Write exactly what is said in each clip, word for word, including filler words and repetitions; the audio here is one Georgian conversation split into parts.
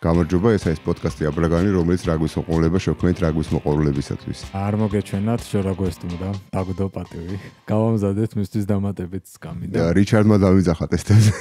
გამარჯობა, ეს არის პოდკასტი აბრაგანი, რომელიც რაგბის მოყოლება შექმნით რაგბის მოყოლებისათვის. არ მოგეჩვენათ შორაგოსტუმდა, დაგდო პატივი. გავამზადეთ მისთვის დამატებით სკამი და რიჩარდმა დავიძახა ტესტებზე.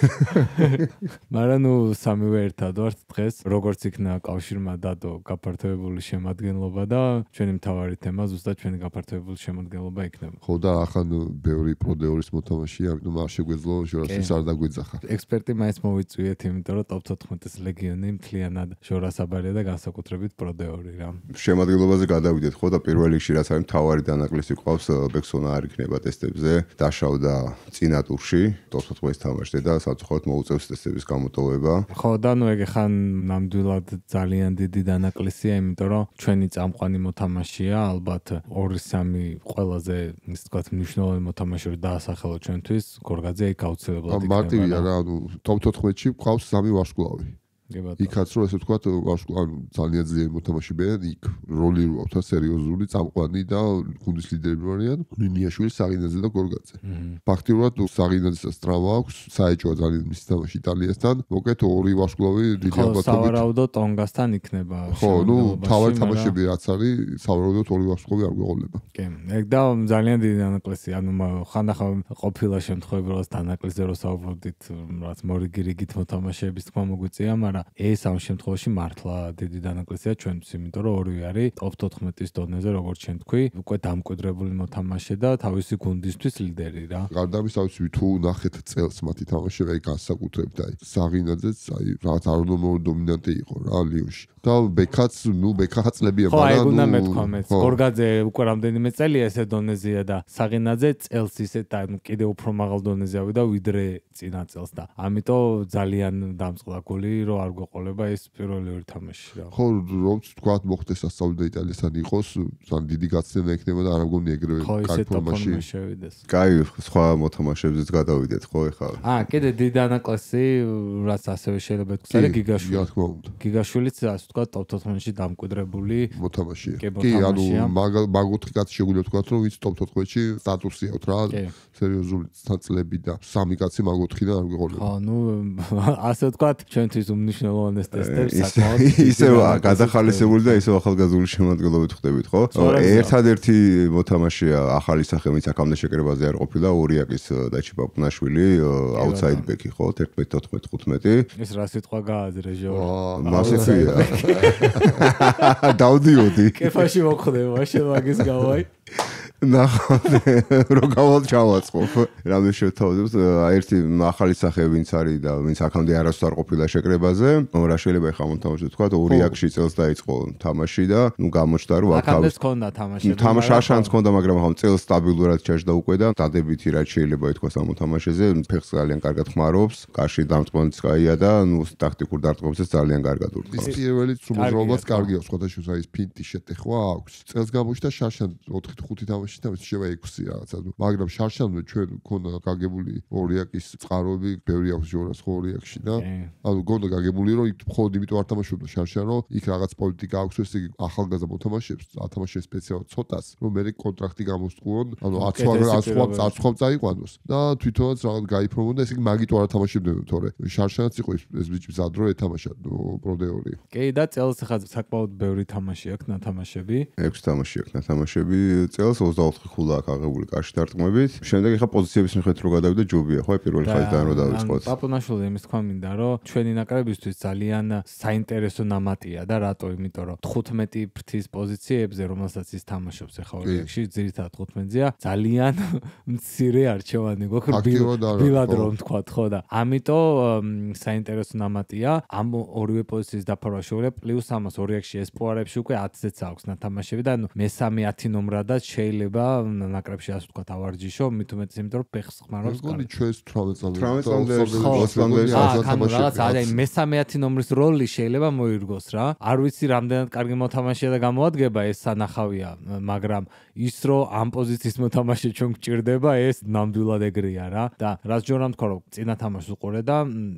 მაგრამ ნუ სამივე ერთად ვართ დღეს, როგორც იქნა კავშირმა დადო გაფართოებული შემადგენლობა და ჩვენი მთავარი თემა ზუსტად ჩვენი გაფართოებული შემადგენლობა იქნება. ხო და ახან ბევრი პროდეორის მოთამაშეა, ამიტომ არ შეგვეძლო შორასის არ დაგვიძახა. ექსპერტი მაინც მოვიწვიეთ, იმიტომ რომ ტოპ თოთხმეტის ლეგიონი მთლიანად შორასაბარია და განსაკუთრებით პროდეორი რა. შემადგენლობაზე გადავიდეთ ხო და პირველ რიგში რაც არის მთავარი დანაკლისი ყავს ბექსონა არ იქნება ტესტებზე, დაშავდა წინა ტურში, ტოპ თოთხმეტის თამაშზე და საფრთხოდ მოუწევს ტესტების გამოტოვება. ხო და ნუ ეგ ხან ნამდვილად ძალიან დიდი დანაკლისია, იმიტომ რომ ჩვენი წამყვანი მოთამაშეა, ალბათ ორი სამი ყველაზე ისე ვთქვათ მნიშვნელოვანი მოთამაშე რო დაასახელო ჩვენთვის, გორგაძე იქ აუცილებლად იქნება. მარტივია რა, ანუ ტოპ თოთხმეტში ყავს სამი ვარსკვლავი. იქაც რომ ესე ვთქვათ, ანუ ძალიან ძლიერი მოთამაშეებია, იქ როლი როაქვს სერიოზული, წამყვანი და გუნდის ლიდერები არიან ნინიაშვილი, საღინაძე და გორგაძე. ფაქტიურად საღინაძესაც ტრავმა აქვს, საეჭოა ძალიან მისი თამაში იტალიასთან. მოკეთ ორი ვარსკვლავი დიდი ალბათობით. ხო, სავარაუდოდ ტონგასთან იქნება. ხო, ნუ თავი თამაშები რაც არის, სავარაუდოდ ორი ვარსკვლავი არ გვეყოლება. კი, ეგ და ძალიან დიდი დანაკლისია, ანუ ხანდახან ყოფილა შემთხვევები, რომ დანაკლისზე რო საუბრობდით, რაც მორიგი-რიგით მოთამაშეების თქმა მოგვიწია, მაგრამ ეს ამ შემთხვევაში მართლა დიდი დანაკლისია ჩვენთვის, იმიტომ რომ ორივე არის ტოპ თოთხმეტის დონეზე, როგორც შენ თქვი, უკვე დამკვიდრებული მოთამაშე და თავისი გუნდისთვის ლიდერი რა. გარდა ამისა, თუ ნახეთ წელს მათი თამაშები განსაკუთრებით, აი საღინაძეც, აი რაღაც არნორმალური დომინანტი იყო რა ლიონში. და ბეკაც, ნუ ბეკა ხაწლებია, მაგრამ ხო, აი უნდა მეთქვა მეც. გორგაძე უკვე რამდენიმე წელია ესე დონეზეა და საღინაძე წელს ისე და კიდე უფრო მაღალ დონეზე ავიდა ვიდრე წინა წელს და ამიტომ ძალიან დამწყდა გოლი, რომ არ გვეყოლება ეს პირველი ორი თამაში რა. ხო, რომც თქვა მოხდეს სასწავლო და იტალიასთან იყოს, ძალიან დიდი გაცემა ექნება და არ მგონი ეგრევე კარგი ფორმაში შევიდეს. კაი, სხვა მოთამაშეებზეც გადავიდეთ ხო ეხლა. აა, კიდე დიდი დანაკლისი, რაც ასევე შეიძლება თქვა, არის გიგაშვილი. რა თქმა უნდა. გიგაშვილიც ასე თქვა ტოპ თოთხმეტში დამკვიდრებული მოთამაშეა. კი, ანუ მაგოთხი კაცი შეგვიძლია თქვა, რომ ვინც ტოპ თოთხმეტში სტატუსი აქვს რა, სერიოზული წლები და სამი კაცი მაგოთხიდან არ გვეყოლება. ხო, ნუ ასე თქვა, ჩვენთვის უმნიშვნელოვანეს ტესტებს საკმაოდ ისევ გადახალისებული და ისევ ახალგაზრდული შემადგენლობით ხდებით, ხო? ერთადერთი მოთამაშეა ახალი სახე, ვინც აქამდე შეკრებაზე არ ყოფილა, ორიაკის დაჩი პაპუნაშვილი, აუთსაიდ ბექი, ხო? ერთმეტი თოთხმეტი ხუთმეტი. ეს რა სიტყვა გააზრე ჟორი. მასეფია. დავდიოდი. კეფაში მოხდება, შენ მაგის გავაი. ნახავთ რომ გავალ ჩავაწყობ რამე შევთავაზებთ ერთი ახალი სახე ვინც არის და ვინც აქამდე არასდროს არ ყოფილა შეკრებაზე რა შეიძლება ეხა მოთამაშე თქვა ორი აქში წელს დაიწყო თამაში და ნუ გამოჩნდა რომ აქამდე ჰქონდა თამაში თამაში შანსი ჰქონდა მაგრამ ახლა წელს სტაბილურად ჩაჯდა უკვე და დადებითი რაც შეიძლება ითქვას ამ მოთამაშეზე ფეხს ძალიან კარგად ხმარობს კარში დამწყმოც კაია და ნუ ტაქტიკურ დარტყმებსაც ძალიან კარგად ურთავს ის პირველი სრულობაც კარგია სხვადასხვა ის ფინტი შეტეხვა აქვს წელს გამოჩნდა შარშან ოთხი ხუთი თამაში და შევა ექვსი რაღაცა მაგრამ შარშანზე ჩვენ გქონდა გაგებული ორიაკის წყაროები ბევრი აქვს ჟორას ხო ორიაკში და ანუ გქონდა გაგებული რომ იქ მხოლოდ იმიტომ არ თამაშობდა შარშან რომ იქ რაღაც პოლიტიკა აქვს ესე იგი ახალგაზრდა მოთამაშეებს ათამაშეს სპეციალურად ცოტას რომ მე კონტრაქტი გამოსწყვონ ანუ აცხვამ აცხვამ წაიყვანოს და თვითონაც რაღაც გაიფორმონ და ესე იგი მაგით არ თამაშობდნენ თორე შარშანაც იყო ეს ბიჭი ზადრო ეთამაშა პროდეორი კი და წელს ხა საკმაოდ ბევრი თამაში აქვს ნათამაშები ექვსი თამაში აქვს ნათამაშები წელს ოცდაოთხი ხულა აქვს აღებული კარში დარტყმებით. შემდეგ ეხა პოზიციების მიხედვით რო გადავიდა ჯობია, ხო, პირველი ხაზიდან რო დავიწყოთ. პაპუნაშვილი იმის თქვა მინდა, რომ ჩვენი ნაკრებისთვის ძალიან საინტერესო ნამატია და რატო? იმიტომ რომ თხუთმეტი ფრთის პოზიციებზე, რომელსაც ის თამაშობს ეხა ორიაკში, ძირითადად თხუთმეტზეა, ძალიან მცირე არჩევანი გვაქვს ბილად რომ თქვა, ხო და ამიტომ საინტერესო ნამატია ამ ორივე პოზიციის დაფარვა შეუძლია, პლუს ამას ორიაკში ესპოარებში უკვე ათზეც აქვს ნათამაშები და მესამე ათი ნომრადაც შეიძლება ნაკრებში ასე ვთქვათ ავარჯიშო, მით უმეტეს იმიტომ რომ ფეხს ხმარობს კარგი. მგონი ჩვენს თვრამეტ წამდე. თვრამეტ წამდე ოსლანდერის რაღაც აი მესამე ათი ნომრის როლი შეიძლება მოირგოს რა. არ ვიცი რამდენად კარგი მოთამაშეა და გამოადგება ეს სანახავია, მაგრამ ის რომ ამ პოზიციის მოთამაშე ჩვენ გჭირდება, ეს ნამდვილად ეგრეა რა. და რაც ჯორამ თქვა რომ წინა თამაშს უყურე და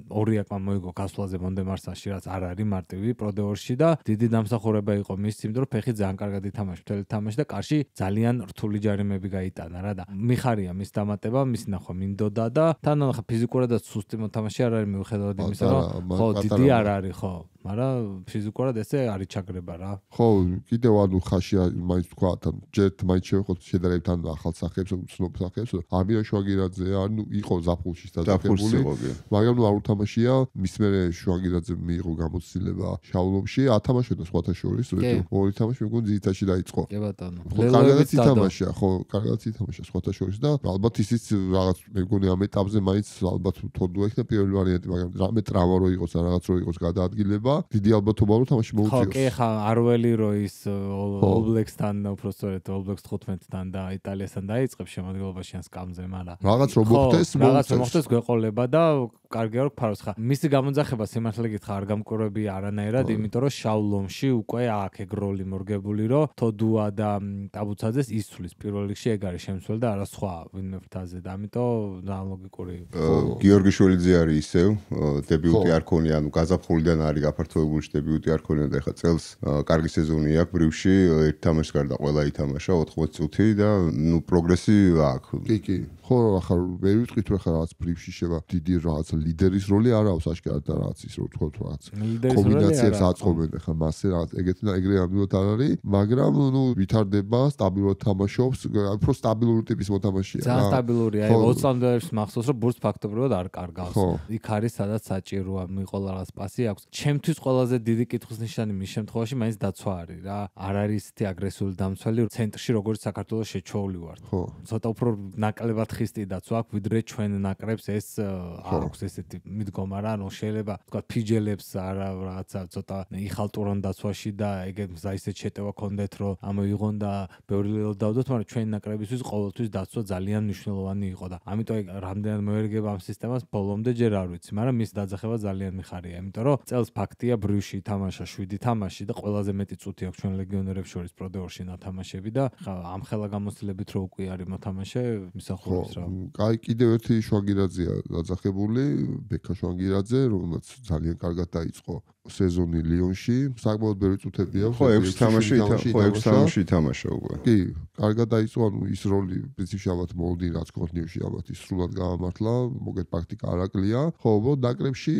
ორიაკმა მოიგო გასვლაზე მონდემარსაში, რაც არ არის მარტივი პროდეორში და დიდი დამსახურება იყო მის იმიტომ რომ ფეხი ძალიან კარგად ითამაშა მთელი თამაში და კარში ძალიან რთული ჯარიმები გაიტანა რა და მიხარია მის დამატება, მის ნახვა მინდოდა და თან ხა ფიზიკურადაც სუსტი მოთამაშე არ არის მიუხედავად იმისა, რომ ხო დიდი არ არის ხო. მაგრამ ფიზიკურად ესე არის ჩაგრება რა. ხო, კიდევ ანუ ხაში მაინც თქვა თან ჯერთ მაინც შევეხოთ შედარებით ან ახალ სახეებს, ცნობ სახეებს. ამირა შვაგირაძე ანუ იყო ზაფხულში დაწესებული. მაგრამ ნუ არ უთამაშია, მის მერე შვაგირაძე მიიღო გამოცდილება შავლომში, ათამაშებდა სხვათა შორის, ორი თამაში მეგონი ძირითადში დაიწყო. კი ბატონო. კარგადაც ითამაშა, ხო, კარგადაც ითამაშა სხვათა შორის და ალბათ ისიც რაღაც მეგონი ამ ეტაპზე მაინც ალბათ თორდო იქნა პირველი ვარიანტი, მაგრამ რამე ტრავმა რო იყოს ან რაღაც რო იყოს გადაადგილება, დიდი ალბათობა რომ თამაში მოუწიოს. ხო, კი, ხა არველი რო ის ოლბლექსთან უბრალოდ ოლბლექს თხუთმეტთან და იტალიასთან დაიწყებს შემადგენლობაში ან სკამზე, მაგრამ რაღაც რო მოხდეს, რაღაც რო მოხდეს გვეყოლება და კარგია რომ ფაროს ხა. მისი გამოძახება სიმართლე გითხრა არ გამკურები არანაირად, იმიტომ რომ შავლომში უკვე აქ ეგროლი მორგებული რომ თოდუა და ტაბუცაძეს ისვლის პირველ რიგში ეგ არის შემცველი და არა სხვა ვინმე ფრთაზე და ამიტომ ლოგიკური. გიორგი შველიძე არის ისევ დებიუტი არ ქონია, ანუ გაზაფხულიდან არის გაფართოებული დებიუტი არ ქონია და ეხლა წელს კარგი სეზონი აქვს ბრიუსში, ერთ თამაშს გარდა ყველა ითამაშა ოთხმოცი წუთი და ნუ პროგრესი აქვს. კი, კი. ხო, ახლა ვერ ვიტყვით რომ ახლა რაღაც ბრიფში შევა დიდი რაღაც ლიდერის როლი არ აქვს ashkara და რაღაც ის რო თქვათ რაღაც კომბინაციებს აწყობენ ახლა მასე რაღაც ეგეთი და ეგრე ამბობთ არ არის, მაგრამ ნუ ვითარდება, სტაბილურად თამაშობს, უფრო სტაბილური ტიპის მოთამაშეა. ძალიან სტაბილურია, აი ოცი წამდე მახსოვს რომ ბურთს ფაქტობრივად არ კარგავს. იქ არის სადაც საჭიროა, მიყოლა რაღაც პასი აქვს. ჩემთვის ყველაზე დიდი კითხვის ნიშანი მის შემთხვევაში მაინც დაცვა არის რა. არ არის ისეთი აგრესიული დამცველი ცენტრში როგორც საქართველოს შეჩოული ვარ. ხო. ცოტა უფრო ნაკლებად ხისტი დაცვა აქვს, ვიდრე ჩვენ ნაკრებს ეს აქვს ესეთი მიდგომა რა, ანუ შეიძლება თქვა ფიჯელებს არა რაღაცა ცოტა იხალტურონ დაცვაში და ეგეთ მზა ისეთ შეტევა კონდეთ რომ ამოიღონ და ბევრი ლელო დავდოთ, მაგრამ ჩვენი ნაკრებისთვის ყოველთვის დაცვა ძალიან მნიშვნელოვანი იყო და ამიტომ ეგ რამდენად მოერგება ამ სისტემას ბოლომდე ჯერ არ ვიცი, მაგრამ მის დაძახება ძალიან მიხარია, იმიტომ რომ წელს ფაქტია ბრიუსში თამაშა შვიდი თამაში და ყველაზე მეტი წუთი აქვს ჩვენ ლეგიონერებს შორის პროდეორში ნათამაშები და ამ ხელა გამოცდილებით რო უკვე არის მოთამაშე მისახურებს რა. კაი, კიდევ ერთი შვაგირაძეა დაძახებული, ბექა შვაგირაძე, რომელსაც ძალიან კარგად დაიწყო სეზონი ლიონში, საკმაოდ ბევრი წუთები აქვს. ხო, ექვსი თამაში, ხო, ექვსი თამაში თამაშა უკვე. კი, კარგად დაიწყო, ანუ ის როლი პრინციპში ალბათ მოლოდინი რაც კონტინიუში ალბათ ის სრულად გამართლა, მოგეთ პრაქტიკა არ აკლია. ხო, ნაკრებში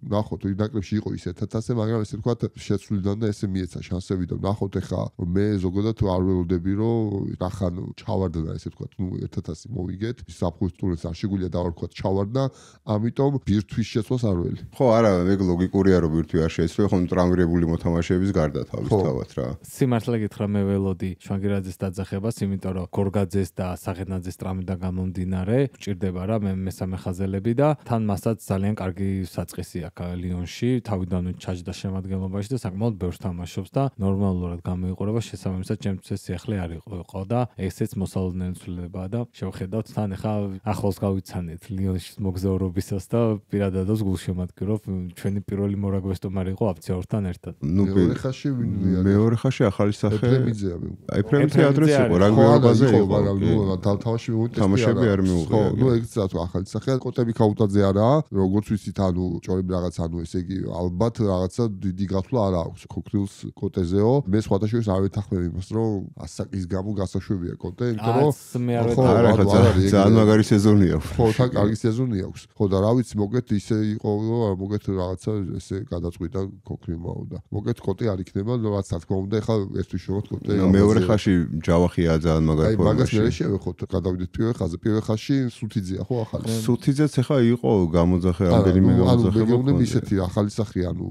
ნახოთ, ნაკრებში იყო ის ერთად ასე, მაგრამ ესე ვთქვათ, შეცვლიდან და ესე მიეცა შანსები და ნახოთ ახლა მე ზოგადად არ ველოდები რომ ნახან ჩავარდა ესე ვთქვათ, ნუ ერთად ასე მოვიგეთ, საფხულის ტურნეს არ შეგვიძლია დავარქვათ ჩავარდა, ამიტომ ბირთვის შეცვლას არ ველი. ხო, არა, ეგ ლოგიკურია რომ ბირთვი არ შეეცვლება, ხომ ტრამვირებული მოთამაშეების გარდა თავისთავად რა. სიმართლე გითხრა მე ველოდი შვაგირაძეს დაძახებას, იმიტომ რომ გორგაძეს და საღენაძეს ტრამვიდან გამომდინარე, ჭირდება რა მე მესამე ხაზელები და თან მასაც ძალიან კარგი საწყისი აქვს ლიონში, თავიდან ჩაჯდა შემადგენლობაში და საკმაოდ ბევრს თამაშობს და ნორმალურად გამოიყურება, შესაბამისად ჩემთვის ეს სიახლე არ იყო და ესეც მოსალოდნელი ცვლილებაა და შევხედავთ თან ახლა ახლოს გავიცანეთ ლიონში მოგზაურობისას და პირადადაც გულშემატკივრობ ჩვენი პირველი მორაგბესტომარი იყო აფციორთან ერთად. ნუ მეორე ხაში მეორე ხაში ახალი სახე ეფრემიძეა. ეფრემიძე ადრეს იყო, რაგბიობაზე იყო, მაგრამ ნუ თამაში მივუტესტი. თამაშები არ მიუღია. ხო, ნუ ეგ წათ ახალი სახე, კოტები ქაუტაძე არაა, როგორც ვიცით, ანუ ჭორები რაღაც, ანუ ესე იგი ალბათ რაღაცა დიდი გათვლა არ აქვს ქოქრილს კოტეზეო. მე სხვათა შორის არ ვეთანხმებ იმას, რომ ასაკის გამო გასაშვებია კოტე, იმიტომ რომ მე არ ვეთანხმებ. ძალიან მაგარი სეზონი აქვს. ხო, თან კარგი სეზონი აქვს. ხო და რა ვიცი, მოგეთ ისე იყო, რომ მოგეთ რაღაცა ესე გადაწყვიტა ქოქრიმაო და მოგეთ კოტე არ იქნება, რაც რა თქმა უნდა, ეხლა ერთვის შევოთ კოტე. მეორე ხაში ჯავახია ძალიან მაგარი ფორმაში. აი, მაგას მე შევეხოთ, გადავიდეთ პირველ ხაზზე. პირველ ხაზში სუთიძეა, ხო, ახალი. სუთიძეც ახლა იყო გამოძახე, რამდენიმე გამოძახე. ანუ მე ისეთი ახალი სახე, ანუ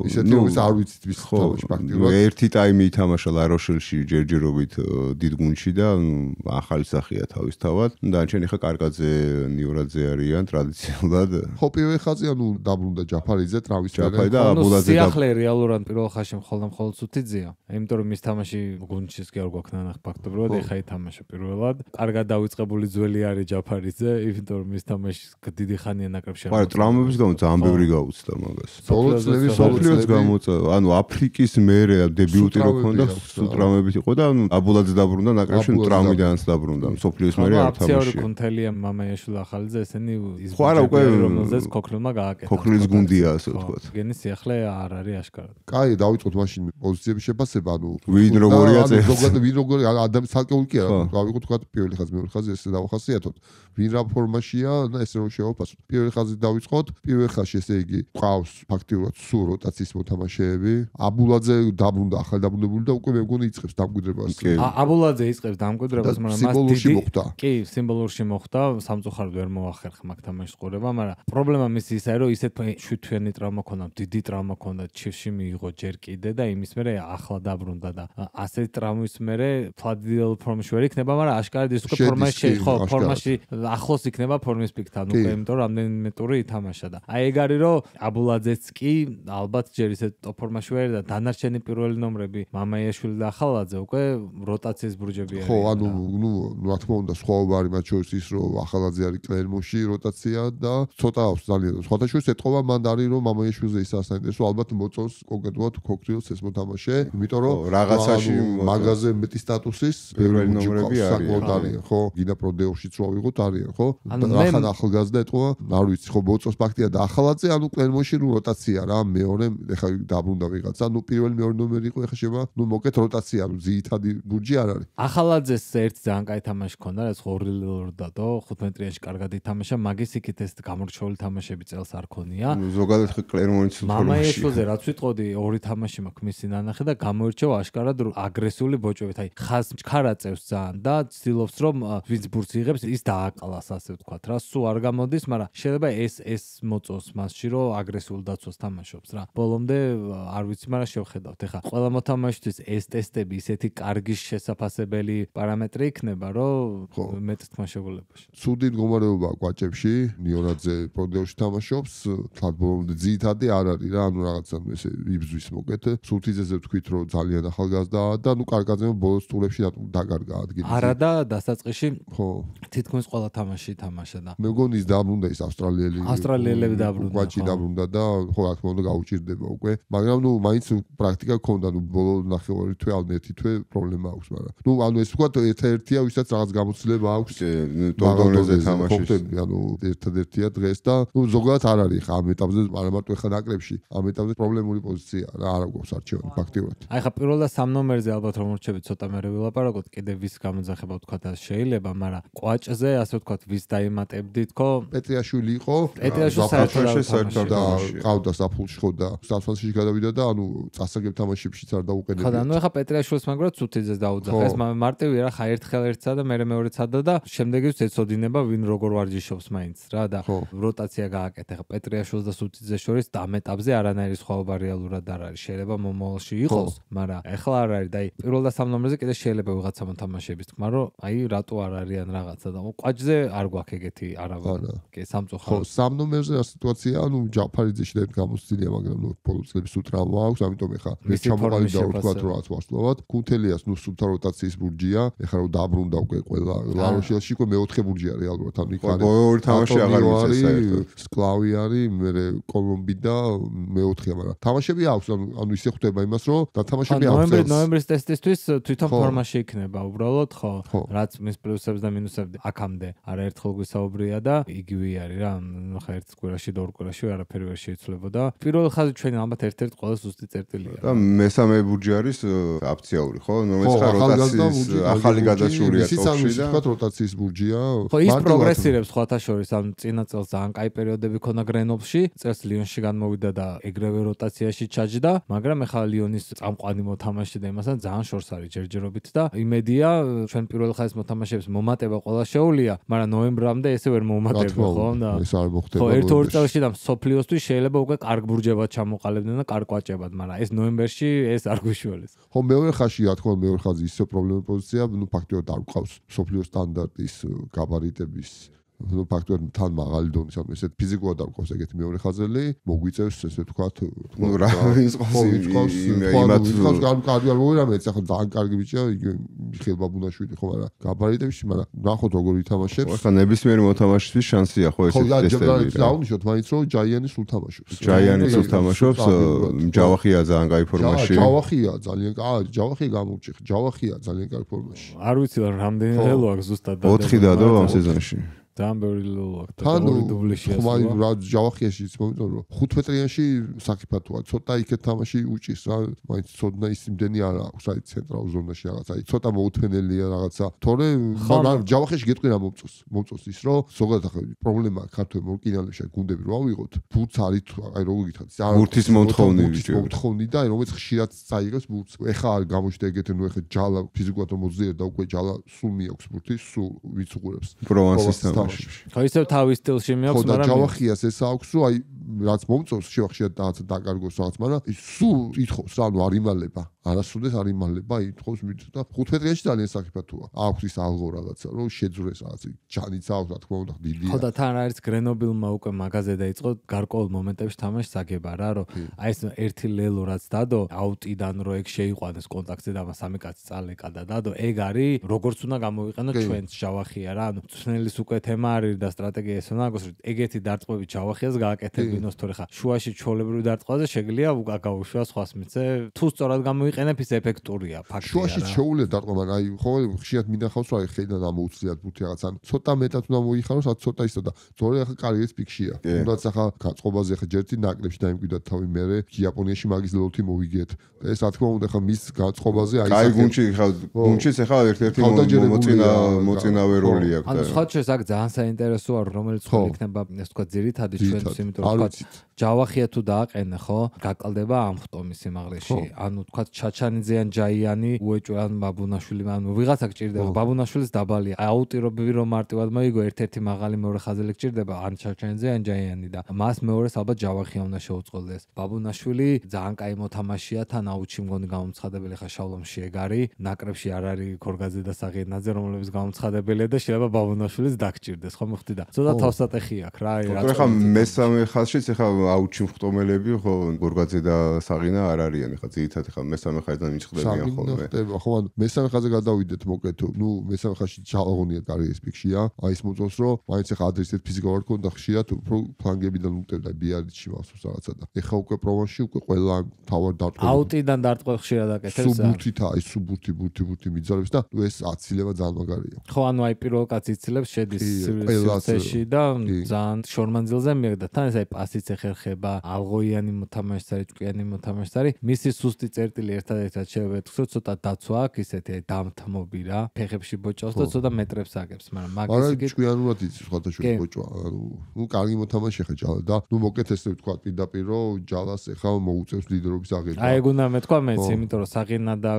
ისეთი რომ ის არ ვიცით ვის თამაში პრაქტიკულად. ერთი ტაიმი ითამაშა ლაროშელში ჯერჯერობით დიდ გუნდში და ახალი სახეა თავისთავად. და ჩვენ ახლა კარგაძე, ნიურაძე არიან ტრადიციულად. ხო, პირველ ხაზზე ანუ დაბრუნდა ჯაფარიძე, ტრავის ჯაფარი და აბულაძე და სიახლე რეალურად პირველ ხაზში მხოლოდ მხოლოდ სუთიძეა. იმიტომ რომ მის თამაში გუნდშიც კი არ გვაქვს ნანახ ფაქტობრივად, ეხა ითამაშა პირველად. კარგად დავიწყებული ძველი არის ჯაფარიძე, იმიტომ რომ მის თამაში დიდი ხანია ნაკრებში. არა, ტრამვების გამო ძალიან ბევრი გაუწდა მაგას. ბოლო წლების სოფლიოც გამოწა, ანუ აფრიკის მერე დებიუტი რო ქონდა, ტრამვებით იყო და აბულაძე დაბრუნდა ნაკრებში, ტრამვიდანაც დაბრუნდა. სოფლიოს მერე არ თამაშია. აფციორი კუნთელია, მამაიაშვილი ახალიძე, ესენი ის ხო არა უკვე რომელზეც ქოქრილმა გააკეთა. ქოქრილის გუნდია ასე ვთქვათ. გენი სიახლე ახლა არ არის აშკარად. კაი, დავიწყოთ მაშინ პოზიციების შეფასება, ანუ ვინ როგორია წესი. ზოგადად ვინ როგორი ადამიანი ცალკეული კი არა, დავიწყოთ თქვა პირველი ხაზი, მეორე ხაზი ესე დავახასიათოთ. ვინ რა ფორმაშია და ესე რომ შევაფასოთ. პირველი ხაზი დავიწყოთ, პირველ ხაზში ესე იგი ყავს ფაქტიურად სულ როტაციის მოთამაშეები. აბულაძე დაბრუნდა, ახალ დაბრუნებული და უკვე მე მგონი იწყებს დამკვიდრებას. აბულაძე იწყებს დამკვიდრებას, მაგრამ მას სიმბოლურში მოხდა. კი, სიმბოლურში მოხდა, სამწუხაროდ ვერ მოახერხა მაგ თამაშის ყურება, მაგრამ პრობლემა მის ისაა, რომ ისეთ შვიდთვიანი ტრავმა ქონდა, დიდი ტრავმა ქონდა, ჩივში მიიღო ჯერ კიდე და იმის მერე ახლა დაბრუნდა და ასეთი ტრავმის მერე ფლადიდელ ფორმაში ვერ იქნება, მაგრამ აშკარად ის უკვე ფორმაში ხო, ფორმაში ახლოს იქნება ფორმის პიკთან, უკვე იმიტომ რომ რამდენიმე ტური ითამაშა და აი ეგ არის რომ აბულაძეც კი ალბათ ჯერ ისეთ ტოპ ფორმაში ვერ და დანარჩენი პირველი ნომრები მამაიაშვილი და ახალაძე უკვე როტაციის ბურჯები არიან. ხო, ანუ ნუ რა თქმა უნდა სხვაობა არის მათ შორის ის რომ ახალაძე არის კლერმონში როტაცია და ცოტა აქვს ძალიან. სხვათა შორის ეთყობა მან არის რომ მამაიაშვილზე ისაა საინტერესო ალბათ მოწონს კონკრეტულად ქოქრიელს ეს მოთამაშე, იმიტომ რომ რაღაცაში მაგაზე მეტი სტატუსის პირველი ნომრები არიან. ხო, გინდა პროდეოშიც რო ავიღოთ არიან, ხო? ახალ ახალგაზრდა ეთყობა, არ ვიცი, ხო მოწონს ფაქტია და ახალაძე ანუ კლერმონში ნუ როტაცია რა, მეორე ეხა დაბრუნდა ვიღაცა, ნუ პირველი მეორე ნომერი იყო ეხა შევა, ნუ მოკეთ როტაცია, ნუ ძირითადი ბურჯი არ არის. ახალაძეს ერთ ძალიან კაი თამაში ქონდა, რაც ორი ლორდა და ხუთმეტრიაში კარგად ითამაშა, მაგის იქით ეს გამორჩეული თამაშები წელს არ ქონია. ზოგადად კლერმონის ფორმაში. მამაიაშვილზე რაც ვიტყოდი, ორი თამაში მაქვს მისი ნანახი და გამოირჩევა აშკარად აგრესიული ბოჭებით. აი ხაზ ჩქარა წევს ძალიან და ცდილობს რომ ვინც ბურთს იღებს, ის დააყალას, ასე ვთქვათ რა. სულ არ გამოდის, მაგრამ შეიძლება ეს ეს მოწონს მასში, რომ აგრესიულ დაცვას თამაშობს რა. ბოლომდე არ ვიცი, მაგრამ შევხედავთ. ეხა ყველა მოთამაშისთვის ეს ტესტები ისეთი კარგი შესაძაფასებელი პარამეტრი იქნება, რომ მეტ თქმა შეგულებაში. ცუდი მდგომარეობაა კვაჭებში, ნიონაძე პროდეოში თამაშობს, თან ბოლომდე ძირითადი არ არის რა, ანუ რაღაცა ესე იბზვის მოკეთ. სულთიძეზე ვთქვით, რომ ძალიან ახალგაზრდაა და ნუ კარგაძემ ბოლოს ტურებში დაკარგა ადგილი. არა და დასაწყისში ხო, თითქმის ყველა თამაში თამაშა და მე მგონი ის დაბრუნდა ის ავსტრალიელი. ავსტრალიელები დაბრუნდა. კვაჭი დაბრუნდა და ხო რა თქმა უნდა გაუჭირდება უკვე. მაგრამ ნუ მაინც პრაქტიკა ქონდა, ნუ ბოლო ნახევარი თვე ალბეთი თვე პრობლემა აქვს, მაგრამ ნუ ანუ ეს ვთქვათ ერთ-ერთია, ვისაც რაღაც გამოცდილება აქვს. ტონდონეზე თამაშის. ანუ ერთადერთია დღეს და ნუ ზოგადად არ არის ხა ამ ეტაპზე, არა მარტო ეხა ნაკრებში, ამ ეტაპზე პრობლემური პოზიცია რა, არ აქვს არჩევანი ფაქტიურად. აი ხა პირველ და სამ ნომერზე ალბათ რომ მორჩებით ცოტა მერე ვილაპარაკოთ, კიდე ვის გამოძახება ვთქვათ შეიძლება, მაგრამ კვაჭზე ასე ვთქვათ ვის დაიმატებდით ხო? პეტრიაშვილი იყო. პეტრიაშვილი საერთოდ და ყავდა საფულში ხო და საფულში გადავიდა და ანუ წასაგებ თამაშებშიც არ დაუყენებია. ხო და ნუ ეხა პეტრიაშვილს მაგრამ ცუთიძეს დაუძახა. ეს მარტივი რა, ხა ერთხელ ერთსა და მერე მეორეც ადა და შემდეგიც ეცოდინება ვინ როგორ ვარჯიშობს მაინც რა და როტაცია გააკეთა. ეხა პეტრიაშვილს და ცუთიძეს შორის ამ ეტაპზე არანაირი სხვაობა რეალურად არ არის. შეიძლება მომავალში იყოს, მაგრამ ეხლა არ არის და აი პირველ და სამ ნომერზე კიდე შეიძლება ვიღაცა მოთამაშეების თქმა, რომ აი რატო არ არიან რაღაცა და კვაჭზე არ გვაქვს ეგეთი არავა. კი, სამწუხაროდ. ხო, სამ ნომერზე რა სიტუაცია, ანუ ჯაფარიძეში და გამოსწილია, მაგრამ ნუ ბოლო წლების სულ ტრავმა აქვს, ამიტომ ეხა ეს ჩამოყალიბდა ვთქვათ რომ რაც ვარსკვლავად. კუნთელიას ნუ სულთა როტაციის ბურჯია, ეხლა რომ დაბრუნდა უკვე ყველა ლაროშელში უკვე მეოთხე ბურჯია რეალურად, ანუ იქ არის ორი თამაში აღარ ვიცი საერთოდ. სკლავი არის, მე კოლომბი და მეოთხეა, მაგრამ თამაშები აქვს, ანუ ანუ ისე ხვდება იმას, რომ დათამაშები აქვს. ნოემბრის ნოემბრის ტესტისთვის თვითონ ფორმაში იქნება უბრალოდ, ხო, რაც მის პლუსებს და მინუსებს აქამდე არაერთხელ გვისაუბრია და იგივე არის რა, ხა ერთ კვირაში და ორ კვირაში არაფერი ვერ შეიცვლებოდა. პირველი ხაზი ჩვენი ალბათ ერთ-ერთ ყველა ზუსტი წერტილია. და მესამე ბურჯი არის აფციაური, ხო? რომელიც ხა როტაციის ახალი გადაშურია ტოპში და ვთქვათ როტაციის ბურჯია. ხო, ის პროგრესირებს სხვათა შორის, ანუ წინა წელს ძალიან კაი პერიოდები ქონდა გრენობლში, წელს ლიონში განმოვიდა და ეგრევე როტაციაში ჩაჯდა, მაგრამ ეხლა ლიონის წამყვანი მოთამაშე და იმასთან ძალიან შორს არის ჯერჯერობით და იმედია ჩვენ პირველ ხაზის მოთამაშეებს მომატება ყველა შეუულია, მაგრამ ნოემბრამდე ესე ვერ მომატება, ხო? და ეს არ მოხდება. ხო, ერთ-ორ წელში და სოფლიოსთვის შეიძლება უკვე კარგ ბურჯებად ჩამოყალიბდნენ და კარგ კვაჭებად, მაგრამ ეს ნოემბერში ეს არ გვიშველეს. ხო, მეორე ხაზში რა თქმა უნდა მეორე ხაზი ისე პრობლემური პოზიცია, ნუ ფაქტიურად არ გვყავს სოფლიოს სტანდარტის გაბარიტების ნუ ფაქტობრივად თან მაღალი დონის, ანუ ესეთ ფიზიკურად არ გვყავს ეგეთი მეორე ხაზელი, მოგვიწევს ესე ვთქვათ, ნუ რა ის ყავს იმათ გან კარგი არ მოვიდა მეც ახლა ძალიან კარგი ბიჭია, იგი მიხეილ ბაბუნაშვილი ხო, მაგრამ გაბარიტებში, მაგრამ ნახოთ როგორ ითამაშებს. ხო, ნებისმიერი მოთამაშისთვის შანსია ხო ესეთი ტესტები. ხო, დაუნიშნოთ მაინც რომ ჯაიანი სულ თამაშობს. ჯაიანი სულ თამაშობს, ჯავახია ძალიან კაი ფორმაში. ჯავახია ძალიან კაი, ჯავახია გამოვჭი, ჯავახია ძალიან კაი ფორმაში. არ ვიცი რა რამდენი ელო აქვს ზუსტად და ოთხი დადო ამ სეზონში. ძალიან ბევრი ლულო აქვს და ორი დუბლი შეასრულა. ხომ რა ჯავახიაშიც მომწონს რომ ხუთ მეტრიანში საკიფათოა, ცოტა იქეთ თამაში უჭის რა, მაინც ცოდნა ის იმდენი არ აქვს, აი ცენტრალურ ზონაში რაღაცა, აი ცოტა მოუთმენელია რაღაცა. თორე მაგრამ ჯავახიაში გეტყვი რა მომწონს. მომწონს ის რომ ზოგადად ახლა პრობლემა ქართულ მორკინალებში გუნდები რო ავიღოთ, ბურთს არის აი როგორ გითხრათ, ბურთის მომთხოვნი ბიჭო. მომთხოვნი და აი რომელიც ხშირად წაიღებს ბურთს. ეხა არ გამოჩნდა ეგეთი, ნუ ეხა ჯალა ფიზიკურად მოძლიერ და უკვე ჯალა სულ მიაქვს ბურთი, სულ ვიც უყურებს. პროვანსის თამაში. ხო ისევ თავის სტილში მიაქვს, მაგრამ ხო და ჯავახიას ეს აქვს, რომ აი რაც მომწონს შევახშიათ და რაღაცა დაკარგოს რაღაც, მაგრამ ის სულ ითხოვს რა, ნუ არ იმალება. არასოდეს არ იმალება, ითხოვს მით და ხუთ მეტრიანში ძალიან საკიფათოა. აქვს ის ალღო რაღაცა, რომ შეძვრეს რაღაცა, ჯანიც აქვს, რა თქმა უნდა, დიდია. ხო და თან არის გრენობილმა უკვე მაგაზე დაიწყო გარკვეულ მომენტებში თამაში საგება რა, რომ აი ეს ერთი ლელო რაც დადო, აუტიდან რო ეგ შეიყვანეს კონტაქტზე და სამი კაცი წალეკა და დადო, ეგ არის როგორც უნდა გამოვიყენოთ ჩვენს ჯავახია რა, ანუ წვნელის უკვე თემა არის და სტრატეგია ეს უნდა აგოს, ეგეთი დარტყმები ჯავახიას გააკეთებინოს, თორე ხა შუაში ჩოლებრივ დარტყმაზე შეგვიძლია გაუშვას სხვას მიცე, თუ სწორად გამოვიყენებ ის ეფექტურია ფაქტია. შუაში შეუძლია დარტყმა, მაგრამ აი ხო ხშირად მინახავს რომ აი ხელიდან ამოუცლიათ ბურთი რაღაც, ან ცოტა მეტად უნდა მოიხაროს, ან ცოტა ისო და ზორი ახლა კარიერის პიკშია. თუნდაც ახლა გაწყობაზე ახლა ჯერტი ნაკლებში დაიმკვიდრა თავი მერე იაპონიაში მაგის ლოლთი მოვიგეთ. ეს რა თქმა უნდა ახლა მის გაწყობაზე აი აი გუნჩი ხა გუნჩიც ახლა ერთ-ერთი მოწინა მოწინავე როლი აქვს. ანუ სხვა შეიძლება აქ ძალიან საინტერესოა რომელიც ხო იქნება ეს თქვა ძირითადი ჩვენს იმიტომ რომ თქვა ჯავახია თუ დააყენე ხო გაკლდება ამ ხტომის სიმაღლეში. ანუ თქვა ჩაჩანიძე ან ჯაიანი უეჭვე ან ბაბუნაშვილი ანუ ვიღაცა გჭირდება ბაბუნაშვილის დაბალია. აუტირობები რომ მარტივად მოიგო ერთ-ერთი მაღალი მეორე ხაზელი გჭირდება ან ჩაჩანიძე ან ჯაიანი და მას მეორეს ალბათ ჯავახია უნდა შეუწყდეს. ბაბუნაშვილი ძალიან კაი მოთამაშეა თან აუჩი მგონი გამომცხადებელი ხა შავლომში ეგ არის. ნაკრებში არ არის ქორგაძე და საღირნაძე რომლებიც გამომცხადებელია და შეიძლება ბაბუნაშვილის დაგჭირდეს ხო მოხდი და ცოტა თავსატეხი აქვს რა აი რა. ხო ხა მესამე ხაზშიც ხა აუჩი მხტომელები ხო გორგაძე და საღინა არ არიან ხა ძირითადად ხა მესამე ხაზიდან მიჭდებიან ხოლმე. ხო ანუ მესამე ხაზზე გადავიდეთ მოკეთ ნუ მესამე ხაზში ჩალაღონია კარიერის პიკშია. აი ის მოწონს რომ მაინც ხა ადრესეთ ფიზიკალურად ქონდა ხშირად უფრო ფლანგებიდან უტევდა ბიარიჩი მასოს რაღაცა და ეხა უკვე პროვანსში უკვე ყველა თავად დარტყმება. აუტიდან დარტყმ ხშირად აკეთებს. სუბურთით აი სუბურთი ბურთი ბურთი მიძალებს და ნუ ეს აცილება ძალიან მაგარია. ხო ანუ აი პირველ კაცი იცილებს შედის სივრცეში და ძალიან შორმანძილზე მიიღდა თან ეს აი პასიც ეხერხება ალღოიანი მოთამაშე არის ჭკვიანი მოთამაშე არის მისი სუსტი წერტილი ერთადერთად შევეთქვი ცოტა დაცვა აქვს ისეთი დამთმობი რა ფეხებში ბოჭავს და ცოტა მეტრებს აგებს მაგრამ მაგის იგი ჭკვიანურად იცის სხვადასხვა ბოჭვა ანუ ნუ კარგი მოთამაშე ხა ჯალა და ნუ მოკეთ ესე ვთქვა პირდაპირ რომ ჯალას ეხა მოუწევს ლიდერობის აღება. აი ეგ უნდა მეთქვა მეც იმიტომ რომ საღირნა და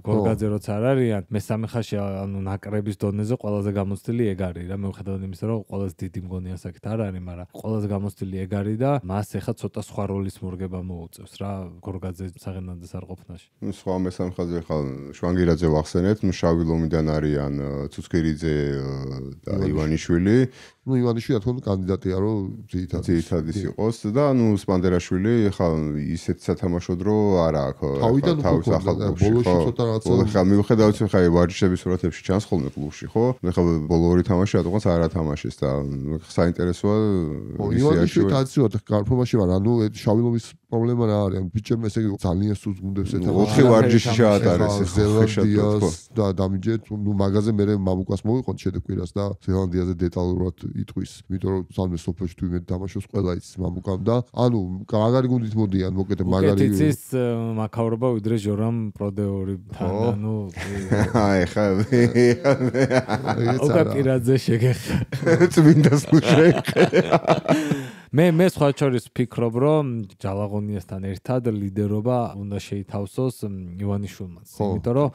გორგაძე როც არ არიან მესამე ხაზში ანუ ნაკრების დონეზე ყველაზე გამოცდილი ეგ არის რა მეუხედავად იმისა რომ ყველაზე დიდი მგონი ასაკით არ არის მაგრამ ყველაზე გამოცდილი ეგ არის და მას ეხა ცოტა სხვა როლის მორგება მოუწევს რა გორგაძე საღირნაძეს არ ყოფნაში. ნუ სხვა მესამე ხაზზე ხა შვანგირაძე ვახსენეთ ნუ შავი ლომიდან არიან ცუცქირიძე და ივანიშვილი. ნუ ივანიშვილი რა თქმა უნდა კანდიდატია რომ ძირითადად ძირითადის იყოს და ნუ სპანდერაშვილი ხა ისეთ სათამაშოდ რომ არა აქვს თავიდან ბოლოში ცოტა რაღაცა ხა მიუხედავად ხა ვარჯიშების სურათებში ჩანს ხოლმე კლუბში ხო ხა ბოლო ორი თამაში რატომაც არ ათამაშეს და საინტერესოა ივანიშვილი კაცია გარფომაში ვარ ანუ შავი ლომის პრობლემა რა არის ანუ ბიჭებმა ესე ძალიან სულს გუნდებს ეთამაშა ოთხი ვარჯიში შეატარეს ზელანდიას და დამიჯეთ ნუ მაგაზე მე მამუკას მოვიყოთ შედეგკვირას და ზელანდიაზე დეტალურად იტყვის იმიტომ რომ სამე სოფელში თუ იმედ დამაშოს ყველა იცის მამუკამ და ანუ მაგარი გუნდით მოდიან მოკეთე მაგარი უკეთიცის მაქავრობა ვიდრე ჟორამ პროდეორიდან ანუ აი ხა ოკაკირაძე შეგეხა წმინდას ნუ შეგეხა მე მე სხვა შორის ვფიქრობ რომ ჯალაღონიასთან ერთად ლიდერობა უნდა შეითავსოს ივანიშვილმაც იმიტომ რომ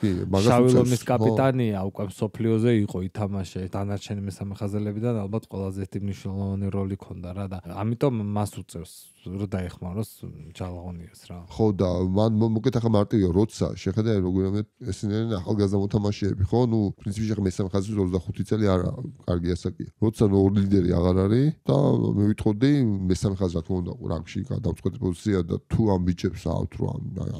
შავი ლომის კაპიტანია უკვე სოფლიოზე იყო ითამაშე დანარჩენი მესამე ხაზელებიდან ალბათ ყველაზე მნიშვნელოვანი როლი ქონდა რა და ამიტომ მას უწევს რომ დაეხმაროს ჯალაღონიას რა ხო და მან მოკეთ ახლა მარტივია როცა შეხედა როგორ ესენი ახალგაზრდა მოთამაშეები ხო ნუ პრინციპში ახლა მესამე ხაზზე ოცდახუთი წელი არა კარგი ასაკია როცა ორი ლიდერი აღარ არის და მე ვიტყოდი მესამე ხაზი რა თქმა უნდა რანგში გადავწყვეტ პოზიცია და თუ ამ ბიჭებს აქვთ რა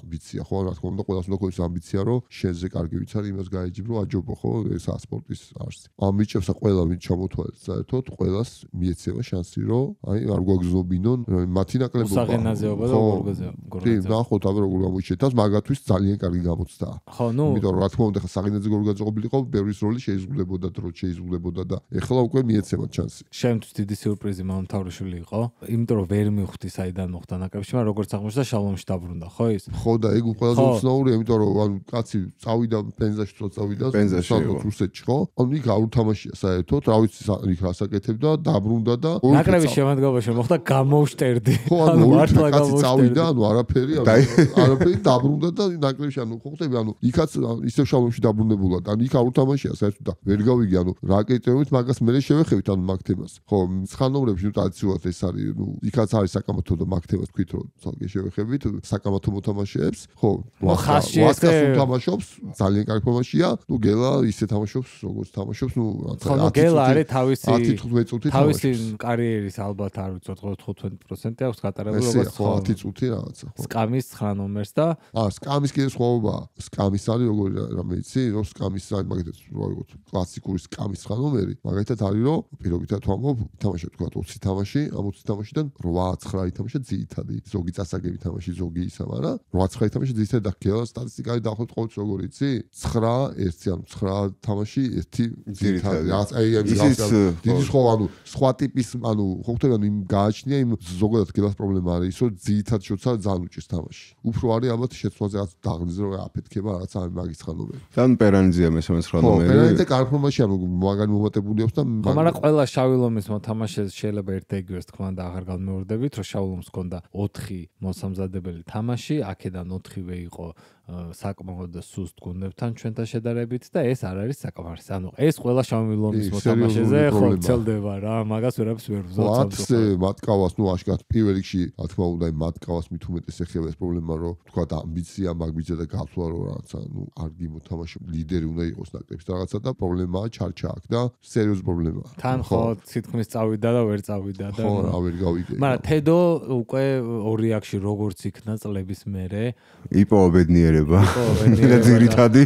ამბიცია ხო რა თქმა უნდა ყველას უნდა ქონდეს ამბიცია რომ შენზე კარგი ვიცარი იმას გაეჯიბ რომ აჯობო ხო ეს სპორტის არსი ამ ბიჭებს ყველა ვინ ჩამოთვალეთ საერთოდ ყველას მიეცემა შანსი რომ აი არ გვაგზნობინონ მათი ნაკლებობა საღენაზეობა და გორგაზეობა კი ნახოთ აბა როგორ გამოიჩეთ და მაგათთვის ძალიან კარგი გამოცდაა ხო ნუ იმიტომ რომ რა თქმა უნდა ხა საღენაზე გორგაზე ყოფილიყო ბევრის როლი შეიზღულებოდა დრო შეიზღულებოდა და ეხლა უკვე მიეცემა შანსი შემთთვის დიდი სიურპრიზი მომთავრებული იყო იმიტომ რომ ვერ მივხვდი საიდან მოხდა ნაკრებში მაგრამ როგორც აღმოჩნდა შალომში დაბრუნდა ხო ის ხო და ეგ ყველაზე უცნაურია იმიტომ რომ ანუ კაცი წავიდა პენზაში თო წავიდა პენზაში რუსეთში ხო ანუ იქ არ უთამაშია საერთოდ რა ვიცი იქ რასაკეთებდა დაბრუნდა და ნაკრების შემადგენლობაში მოხდა გამოვშტერდი ხო ანუ მართლა კაცი წავიდა ანუ არაფერი არაფერი დაბრუნდა და ნაკრებში ანუ ხო ხტები ანუ იქაც ისევ შალომში დაბრუნებულად ანუ იქ არ უთამაშია საერთოდ და ვერ გავიგე ანუ რა კრიტერიუმით მაგას მე შევეხებით ანუ მაგ თემას ხო ცხანოვრებში ნუ ტრადიციულად ეს არის ნუ იქაც არის საკამათო და მაგ თემას თქვით რომ თალკე შევეხებით საკამათო მოთამაშეებს ხო ვასკას უთამაშობს ძალიან კარგი ფორმაშია ნუ გელა ისე თამაშობს როგორც თამაშობს ნუ ხო ნუ გელა არის თავისი ათი თხუთმეტი წუთი თავისი კარიერის ალბათ არ ვიცი ოცდაოთხ პროცენტი აქვს გატარებული როგორც ხო ათი წუთი რაღაცა ხო სკამის ცხრა ნომერს და აა სკამის კიდე სხვაობაა სკამის არის როგორი რამე იცი რომ სკამის არის მაგათაც როგორც კლასიკური სკამის ცხრა ნომერი მაგათაც არის რომ პირობითად ვამბობ თამაშობ თქვა ოცი თამაში ამ ოცი თამაშიდან რვა ცხრა ითამაშა ძირითადი ზოგი წასაგები თამაში ზოგი ისა მაგრამ რვა ცხრა ითამაშა ძირითადი და გელა სტატისტიკայի დაახლოებით ყოველთვის როგორ იცი ცხრა ერთი ანუ ცხრა თამაში ერთი ძირითადი რაღაც აი ეს დიდი სხვა ანუ სხვა ტიპის ანუ ხო ხდება ანუ იმ გააჩნია იმ ზოგადად გელას პრობლემა არის რომ ძირითად შოცა ძალიან უჭირს თამაში უფრო არის ალბათ შეცვლაზე რაც დაღლიზო რომ აფეთქება რაღაც ამ მაგის ხანომერი თან პერანიძია მესამე ცხრა ნომერი ხო პერანიძე კარგი ფორმაში ანუ მაგარი მომატებული აქვს და მაგრამ ყველა შავი ლომის მოთამაშეს შეიძლება ერთ ეგრეს თქვა და აღარ განმეორდებით რომ შავ ლომს ჰქონდა ოთხი მოსამზადებელი თამაში აქედან ოთხივე იყო საკმაოდ სუსტ გუნდებთან ჩვენთან შედარებით და ეს არ არის საკმარისი. ანუ ეს ყველა შავი ლომის მოთამაშეზე ხო ცელდება რა, მაგას ვერაფერს ვერ ვზავ. ათზე მატკავას ნუ აშკარად პირველ რიგში რა თქმა უნდა მატკავას მით უმეტეს ეხება ეს პრობლემა რომ თქვა და ამბიცია მაგბიძა და გასვლა რომ რაღაცა ნუ კარგი მოთამაშე ლიდერი უნდა იყოს ნაკრების რაღაცა და პრობლემაა ჩარჩა აქ და სერიოზული პრობლემაა. თან ხო თითქმის წავიდა და ვერ წავიდა და ხო რა ვერ გავიგე. მაგრამ თედო უკვე ორი აქში როგორც იქნა წლების მერე იპოვა ბედნიერება. და ძირითადი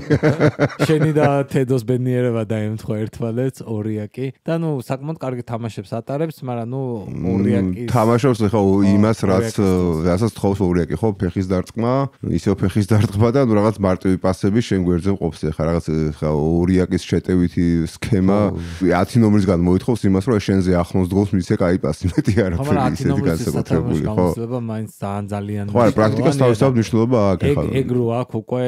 შენი და თედოს ბედნიერება დაემთხვა ერთმანეთს ორიაკი და ნუ საკმაოდ კარგი თამაშებს ატარებს, მაგრამ ნუ ორიაკი თამაშობს ხო იმას რაც რასაც თხოვს ორიაკი ხო ფეხის დარტყმა, ისევ ფეხის დარტყმა და ნუ რაღაც მარტივი პასები შენ გვერდზე მყოფს ხა რაღაც ხა ორიაკის შეტევითი სქემა ათი ნომრისგან მოითხოვს იმას რომ შენზე ახლოს დგოს მისე კაი პასი მეტი არაფერი ისეთი განსაკუთრებული ხო ხო მაინც ძალიან ძალიან ხო პრაქტიკას თავისთავად მნიშვნელობა აქვს ხა ეგ რო აქვს უკვე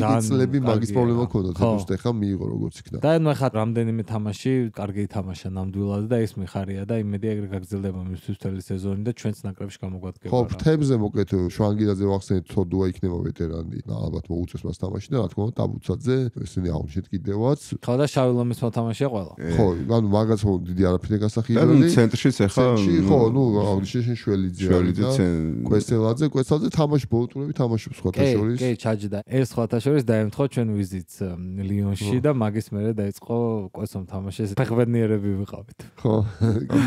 ძალიან წლები მაგის პრობლემა ქონდა თეთრ ხა მიიღო როგორც იქნა და ნუ ხა რამდენიმე თამაში კარგი თამაშა ნამდვილად და ეს მიხარია და იმედი ეგრე გაგრძელდება მისთვის მთელი სეზონი და ჩვენც ნაკრებში გამოგვადგება ხო ფრთებზე მოკეთ შვანგილაძე ვახსენეთ თოდუა იქნება ვეტერანი და ალბათ მოუწევს მას თამაში და რა თქმა უნდა ტაბუცაძე ესენი აღნიშნეთ კიდევაც ხო და შავი ლომის მოთამაშეა ყველა ხო ანუ მაგაც ხო დიდი არაფერი გასახიერებელი და ცენტრშიც ახლა ხო ნუ აღნიშნეთ შველიძე და კვესელაძე კვესელაძე თამაში ბოლტურები თამაშობს სხვათა შორის კი ჩაჯდა ეს სხვათა შორის დაემთხვა ჩვენ ვიზიტს ლიონში და მაგის მერე დაიწყო კვესომ თამაშის ფეხბედნიერები ვიყავით ხო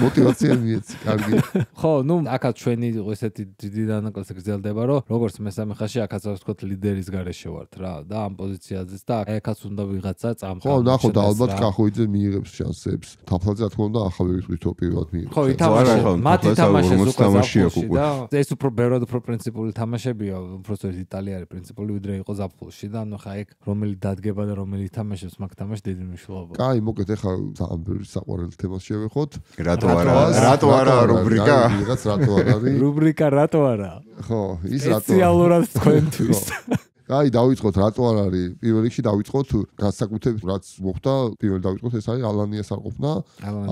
мотивация მიეცი კარგი ხო ნუ აქაც ჩვენი ესეთი დიდი დანაკლისი გრძელდება რომ როგორც მესამე ხაზში აქაც ვთქვათ ლიდერის გარეშე ვართ რა და ამ პოზიციაზეც და აქაც უნდა ვიღაცა წამყვა ხო ნახო და ალბათ კახოიძე მიიღებს შანსებს თაფლაძე რა თქმა უნდა ახალ ვიტყვით პირველად მიიღებს ხო ითამაშა მათი თამაშის უკვე ზაფხულში და ეს უფრო ბევრად უფრო პრინციპული თამაშებია უბრალოდ იტალია არის პრინციპული ვიდრე იყო ზაფხულში და ანუ ხა ეგ რომელი დადგება და რომელი თამაშებს მაგ თამაში დიდი მნიშვნელობა. კაი მოკეთ ახლა ძალიან ბევრი საყვარელი თემას შევეხოთ. რატო არა რატო არა რუბრიკა ვიღაც რატო არ არის რუბრიკა რატო არა ხო ის რატო სპეციალურად თქვენთვის აი დავიწყოთ რატო არ არის პირველ რიგში დავიწყოთ განსაკუთრებით რაც მოხდა პირველ დავიწყოთ ეს არის ალანიას არ ყოფნა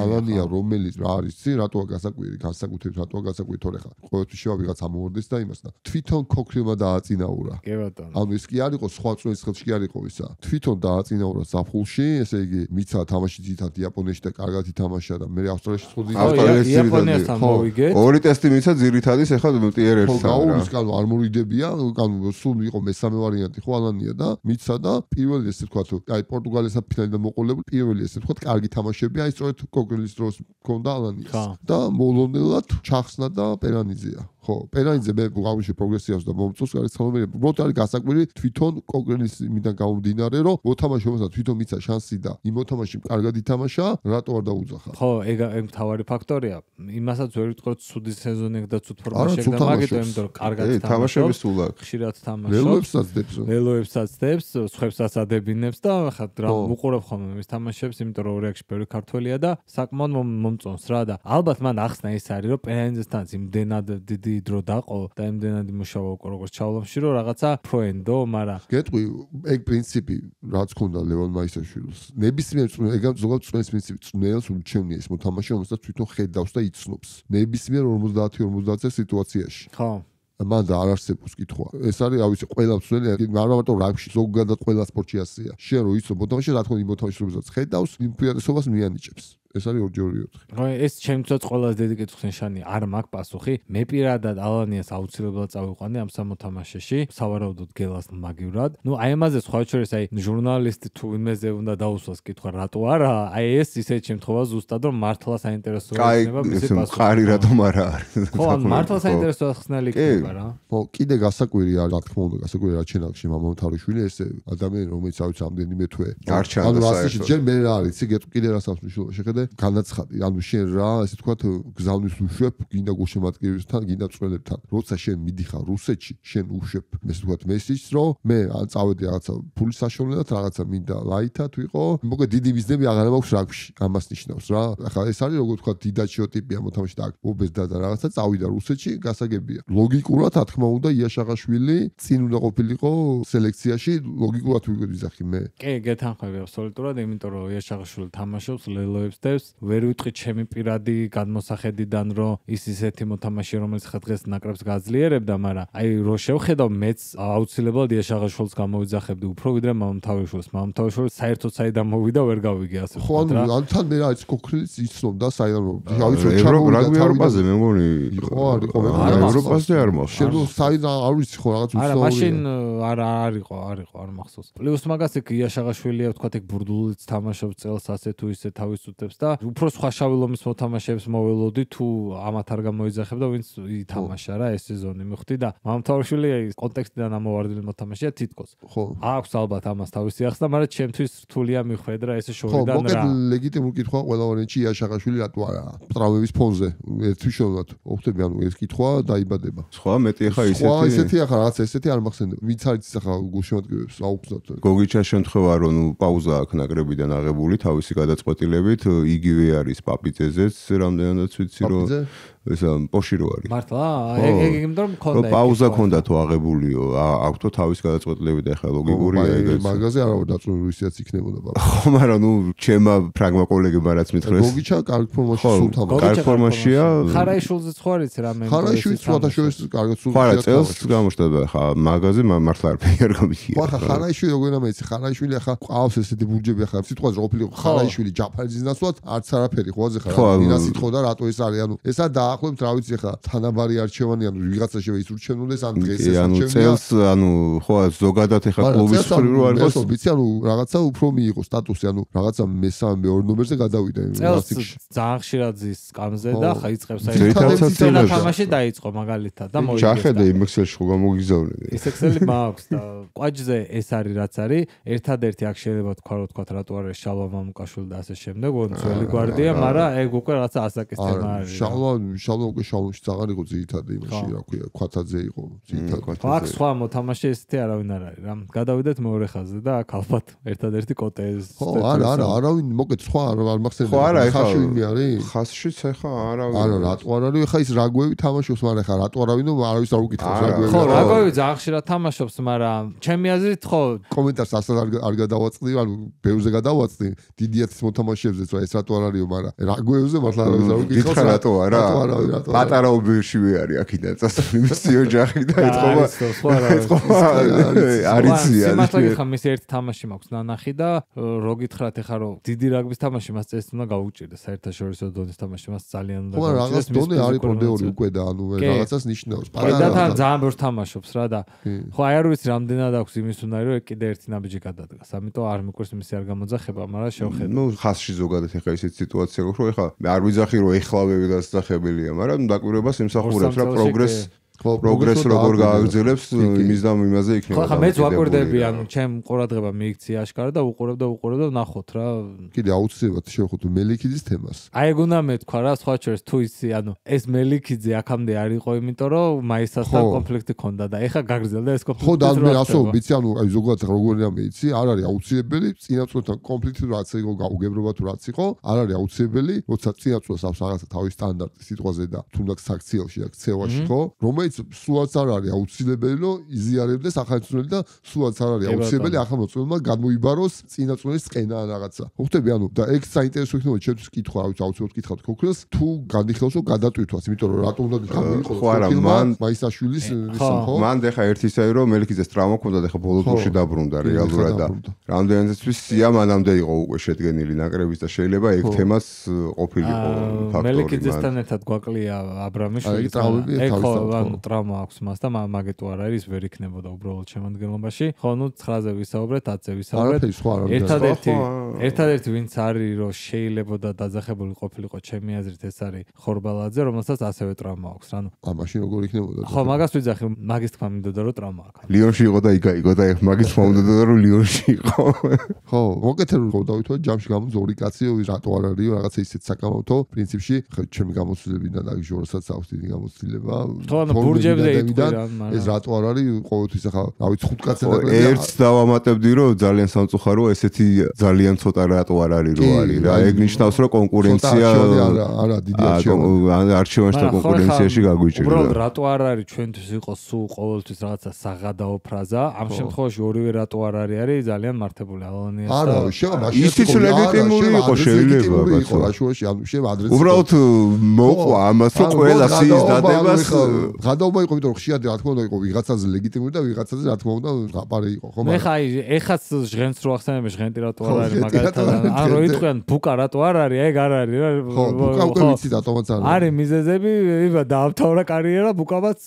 ალანია რომელიც რა არის ცი რატოა განსაკუთრებით განსაკუთრებით რატოა განსაკუთრებით თორე ხა ყოველთვის შევა ვიღაც ამოვარდეს და იმას და თვითონ ქოქრილმა დააწინაურა კი ბატონო ანუ ეს კი არ იყო სხვა წვენის ხელში კი არ იყო ისა თვითონ დააწინაურა ზაფხულში ესე იგი მიცა თამაში ძირითადად იაპონიაში და კარგად ითამაშა და მე ავსტრალიაში ხოდი იაპონიასთან მოვიგე ორი ტესტი მიცა ძირითადის ახლა მტიერ ერთს ხო გაურის კანო არ მორიდებია კანო სულ იყო მესამე ვარიანტი ხო ალანია და მიცა და პირველი ესე თქვა თუ აი პორტუგალიასთან ფინალიდან მოყოლებული პირველი ესე თქვა კარგი თამაშები აი სწორედ კოკრილის დროს მქონდა ალანიას და მოლონელად ჩახსნა და პერანიძეა ხო პერანიძე მე გავიშვი პროგრესიას და მომწონს არის ცნობილი უბრალოდ არის გასაკვირი თვითონ კოკრილის მიდან გამომდინარე რომ მოთამაშეებსაც თვითონ მიცა შანსი და იმ მოთამაშემ კარგად ითამაშა რატო არ დაუძახა ხო ეგ ეგ მთავარი ფაქტორია იმასაც ვერ ვიტყოდ ცუდი სეზონი და ცუდ ფორმაში და მაგით იმიტომ რომ კარგად თამაშები სულ აქვს ხშირად თამაშობს ველოებსაც დებს ველოებსაც დებს სხვებსაც ადებინებს და ხა რა უყურებ ხოლმე მის თამაშებს იმიტომ რომ რეაქში ბევრი ქართველია და საკმაოდ მომწონს რა და ალბათ მან ახსნა ის არის რომ პერანიძესთან იმდენად დიდი დრო დაყო და იმდენად იმუშავა უკვე როგორც ჩავლამში რომ რაღაცა პროენდო მაგრამ გეტყვი ეგ პრინციპი რაც ქონდა ლევან მაისაშვილს ნებისმიერ ეგ ზოგადად წვენის პრინციპი წვნელს ურჩევნია ეს მოთამაშე რომელსაც თვითონ ხედავს და იცნობს ნებისმიერ ორმოცდაათი ორმოცდაათზე სიტუაციაში ხო მან და არ არსებობს კითხვა ეს არის რა ვიცი ყველა წველი არ მარტო რაგბში ზოგადად ყველა სპორტში ასეა შენ რო იცნობ მოთამაშე რა თქმა უნდა მოთამაშე რომელსაც ხედავს იმ პრიორიტეტობას მიანიჭებს ეს არის ორჯერ ოთხი. ხო, ეს ჩემთვის ყველაზე დიდი კითხვის ნიშანი არ მაქვს პასუხი. მე პირადად ალანიას აუცილებლად წავიყვანე ამ სამოთამაშეში, სავარაუდოდ გელას მაგივრად. ნუ აი ამაზე სხვა შორის აი ჟურნალისტი თუ იმეზე უნდა დაუსვას კითხვა რატო არა? აი ეს ისეთ შემთხვევაში ზუსტად რომ მართლა საინტერესო იქნება მისი პასუხი. ყარი რატომ არა არის? ხო, მართლა საინტერესო ხსნელი იქნება რა. ხო, კიდე გასაკვირი არის, რა თქმა უნდა, გასაკვირი რა ჩენალში მამამთავრიშვილი ეს ადამიანი რომელიც ავიც ამდენიმე თვე. ანუ რასში ჯერ მე რა არის, იცი გეტყვი კიდე რას აქვს მნიშვნელობა შეხედე განაცხადი ანუ შენ რა ესე თქვა გზავნის უშვებ გინდა გულშემატკივრებთან გინდა წვრელებთან როცა შენ მიდიხარ რუსეთში შენ უშვებ ესე თქვა მესიჯს რომ მე ან წავედი რაღაცა ფულის საშუალებლად რაღაცა მინდა ლაითად ვიყო მოგე დიდი ბიზნესები აღარ მაქვს რაგბში ამას ნიშნავს რა ახლა ეს არის როგორ თქვა დიდაჩიო ტიპია მოთამაშე და უბეს და რაღაცა წავიდა რუსეთში გასაგებია ლოგიკურად რა თქმა უნდა იაშაღაშვილი წინ უნდა ყოფილიყო სელექციაში ლოგიკურად ვიზახი მე კი გეთანხმები აბსოლუტურად იმიტომ რომ იაშაღაშვილი თამაშობს ლელოებს დევს ვერ ვიტყვი ჩემი პირადი გადმოსახედიდან რომ ის ისეთი მოთამაშე რომელიც ხა დღეს ნაკრებს გაძლიერებდა მაგრამ აი რო შევხედავ მეც აუცილებლად იაშაღაშვილს გამოვიძახებდი უფრო ვიდრე მამამთავრიშვილს მამამთავრიშვილი საერთოდ საიდან მოვიდა ვერ გავიგე ასე ხო ანუ თან მე რა ის კოქრილიც იცნობდა საიდან ავიც რაგბი ევროპაზე მე მგონი ხო არ იყო ევროპაზე არ მახსოვს შენ საიდან არ ვიცი ხო რაღაც არა მაშინ არა არ იყო არ იყო არ მახსოვს პლუს მაგას იქ იაშაღაშვილია ვთქვა ეგ ბურდულიც თამაშობს წელს ასე თუ ისე თავის უტებს და უფრო სხვა შავილომის მოთამაშეებს მოველოდი თუ ამათ არ გამოიძახებდა ვინც ითამაშა რა ეს სეზონი მივხვდი და მამამთავრიშვილი კონტექსტიდან ამოვარდილი მოთამაშეა თითქოს ხო აქვს ალბათ ამას თავისი ახსნა მაგრამ ჩემთვის რთულია მიხვედრა ესე შორიდან რა ხო მოკეთ ლეგიტიმური კითხვა ყველა ვარიანტში იაშაღაშვილი რატო არა ტრამვების ფონზე ერთვიშოვნად ოხტები ანუ ეს კითხვა დაიბადება სხვა მეტი ახლა ისეთი სხვა ისეთი ახლა რაღაც ესეთი არ მახსენდება ვინც არის ახლა გულშემატკივრებს აუგზავთ გოგიჩას შემთხვევა რომ ნუ პაუზა აქვს ნაკრებიდან აღებული თავისი გადაწყვეტილებით იგივე არის პაპიძეზეც რამდენადაც ვიცი რომ ეს პოში რო არის მართლა ეგ ეგ იმიტომ მქონდა პაუზა ქონდა თუ აღებულიო აქვთო თავის გადაწყვეტილებით ახლა ლოგიკურია ეგ მაგაზე არა დაწუნებული ისეც იქნებოდა ხო მაგრამ ნუ ჩემა ფრაგმა კოლეგებმა რაც მითხრეს გოგიჩა კარგ ფორმაში სულ თამაშობს კარგ ფორმაშია ხარაიშვილზეც ხო არის რამე ხარაიშვილიც სხვადასხვა კარგად სულ ხარა წელს გამოჩნდა ხა მაგაზე მართლა არ ფიქერ გამიქია ხა ხარაიშვილი როგორ ამეცი ხარაიშვილი ახლა ყავს ესეთი ბურჯები ახლა სიტყვაზე რო ყოფილიყო ხარაიშვილი ჯაფარიძის ნაცვლად არც არაფერი ხო აზე ხარ მინა სიტყვა და რატო ეს არის ანუ ესა დაახლოებით რა ვიცი ხა თანაბარი არჩევანი ანუ ვიღაცა შევა ის ურჩევნოდეს ან დღეს ეს ანუ წელს ანუ ხო ზოგადად ახლა კლუბის მხრივ რო არ იყოს ვიცი ანუ რაღაცა უფრო მიიღო სტატუსი ანუ რაღაცა მესამე მეორე ნომერზე გადავიდა ლასტიკში ძალიან ხშირად ზის სკამზე და ხა იწყებს აი თამაში დაიწყო მაგალითად და მოიგო ჩახედე იმ ექსელში ხო გამოგიზავნე ის ექსელი მაქვს და ყვაჯზე ეს არის რაც არის ერთადერთი აქ შეიძლება თქვა რომ თქვა რატო არის შალვა მამუკაშვილი და ასე შემდეგ ოღონდ ძველი გვარდია მაგრამ ეგ უკვე რაღაცა ასაკის თემა არის შალვა შალვა უკვე შალვაში აღარ იყო ძირითადი იმაში რა ქვია ქვათაძე იყო ძირითადი აქ სხვა მოთამაშე ესეთი არავინ არ არის რა გადავიდეთ მეორე ხაზზე და აქ ალბათ ერთადერთი კოტე ეს ხო არა არა არავინ მოკეთ სხვა არ მახსენდება ხო არა ეხლა ხასში არის ხასშიც ეხლა არავინ არა რატო არ არის ეხლა ის რაგვევი თამაშობს მაგრამ ეხლა რატო არავინო არავის არ უკითხავს რაგვევი ხო რაგვევი ძალიან ხშირად თამაშობს მაგრამ ჩემი აზრით ხო კომენტარს ასე არ გადავაწყდი ანუ ბევრზე გადავაწყდი დიდიათის მოთამაშეებზეც რა ეს რატო არ არისო მაგრამ რაგვევზე მართლა არავის არ უკითხავს რატო არა რატო არ არავინ რატო პატარა უბირშივე არის აქიდან წასული მისი ოჯახი და ეთქობა ეთქობა არიცია სიმართლე ხა მის ერთ თამაში მაქვს ნანახი და რო გითხრათ ეხა რომ დიდი რაგბის თამაში მას წეს უნდა გაუჭირდეს საერთაშორისო დონის თამაში მას ძალიან უნდა გაუჭირდეს. ხო რაღაც დონე არის პროდეორი უკვე და ანუ რაღაცას ნიშნავს. პატარა და ძალიან ბევრს თამაშობს რა და ხო აი არ ვიცი რამდენად აქვს იმის უნარი რომ კიდე ერთი ნაბიჯი გადადგას. ამიტომ არ მიყვარს მისი არ გამოძახება, მაგრამ შევხედე. ნუ ხასში ზოგადად ეხა ისეთ სიტუაცია გვაქვს რომ ეხა არ ვიძახი რომ ეხლავები დასახებელია, მაგრამ დაკვირვებას იმსახურებს რა პროგრესს პროგრესს როგორ გააგრძელებს იმის და იმაზე იქნება. ხო, ხა მეც ვაკვირდები, ანუ ჩემ ყურადღება მიიქცია აშკარა და უყურებ და უყურებ და ვნახოთ რა. კიდე აუცილებლად შევხვდით მელიქიძის თემას. აი ეგ უნდა მეთქვა რა, სხვა შორის თუ ისი, ანუ ეს მელიქიძე აქამდე არ იყო, იმიტომ რომ მაისასთან კონფლიქტი ქონდა და ეხა გაგრძელდა ეს კონფლიქტი. ხო, და მე ასო ვიცი, ანუ აი ზოგადად როგორია მეიცი, არ არის აუცილებელი წინაწყვეტთან კონფლიქტი რაც იყო, გაუგებრობა თუ რაც იყო, არ არის აუცილებელი, როცა წინაწყვეტს აქვს რაღაცა თავის სტანდარტი სიტყვაზე და თუნდაც საქციელში და ქცევაში ხო, რომელიც სულაც არ არის აუცილებელი რომ იზიარებდეს ახალწლოვანი და სულაც არ არის აუცილებელი ახალწლოვანმა გამოიბაროს წინაწვლის ყენა ან რაღაცა. ხვდები ანუ და ეგ საინტერესო იქნება ჩემთვის კითხვა, რა ვიცი, აუცილებლად კითხავთ ქოქროს, თუ განიხილავსო გადატვირთვას, იმიტომ რომ რატომ უნდა გამოიყოს ფილმმა მაისაშვილის ისა ხო? მან ეხა ერთი ისე რომ მელიქიძეს ტრავმა ჰქონდა და ეხა ბოლო ტურში დაბრუნდა რეალურად და რამდენადაც სია მანამდე იყო უკვე შედგენილი ნაკრების და შეიძლება ეგ თემას ყოფილიყო ფაქტორი. მელიქიძესთან ერთად გვაკლია აბრამიშვილი. ეგ ხო ანუ ტრავმა აქვს მას და მაგეთო არ არის ვერ იქნებოდა უბრალოდ შემადგენლობაში. ხო, ნუ ცხრაზე ვისაუბრეთ, ათზე ვისაუბრეთ. ერთადერთი ერთადერთი ვინც არის რომ შეიძლებოდა დაძახებული ყოფილიყო ჩემი აზრით ეს არის ხორბალაძე, რომელსაც ასევე ტრავმა აქვს. ანუ ამაში როგორ იქნებოდა? ხო, მაგას ვიძახი, მაგის თქმა მინდოდა რომ ტრავმა აქვს. ლიონში იყო და იგაიგო და მაგის თქმა მინდოდა რომ ლიონში იყო. ხო, მოკეთე რომ დავითვალე ჯამში გამოდის ორი კაცი, რატო არ არისო, რაღაცა ისეთ საკამათო პრინციპში, ხო, ჩემი გამოცდილებიდან და ჟორსაც აქვს დიდი გამოცდილება. ხო, ანუ ბურჯებზე იტყვიან, ეს რატო არ არის ყოველთვის ახლა რა ვიცი ხუთ კაცი და ერთს დავამატებდი რომ ძალიან სამწუხაროა ესეთი ძალიან ცოტა რატო არ არის რო არის რა ეგ ნიშნავს რომ კონკურენცია არა არა დიდი არჩევანი არჩევანში და კონკურენციაში გაგვიჭირდა უბრალოდ რატო არ არის ჩვენთვის იყოს სულ ყოველთვის რაღაცა საღადაო ფრაზა ამ შემთხვევაში ორივე რატო არ არის არის ძალიან მართებული ალანიას და არა შეიძლება ისიც ლეგიტიმური იყო შეიძლება იყო რაშუაში ანუ შეიძლება ადრესს უბრალოდ მოყვა ამას რომ ყველა სიის დადებას გადაობა იყო იმიტომ რომ ხშირად რა თქმა უნდა იყო ვიღაცაზე ლეგიტიმური და ვიღაცაზე რა თქმა უნდა გაპარე იყო ხო მაგრამ მე ხა ეხაც ჟღენს რო ახსენებ ჟღენტი რატო არ არის მაგალითად ან რო იტყვიან ბუკა რატო არ არის ეგ არ არის რა ხო ბუკა უკვე ვიცი რატომაც არ არის არის მიზეზები იბა დაამთავრა კარიერა ბუკავაც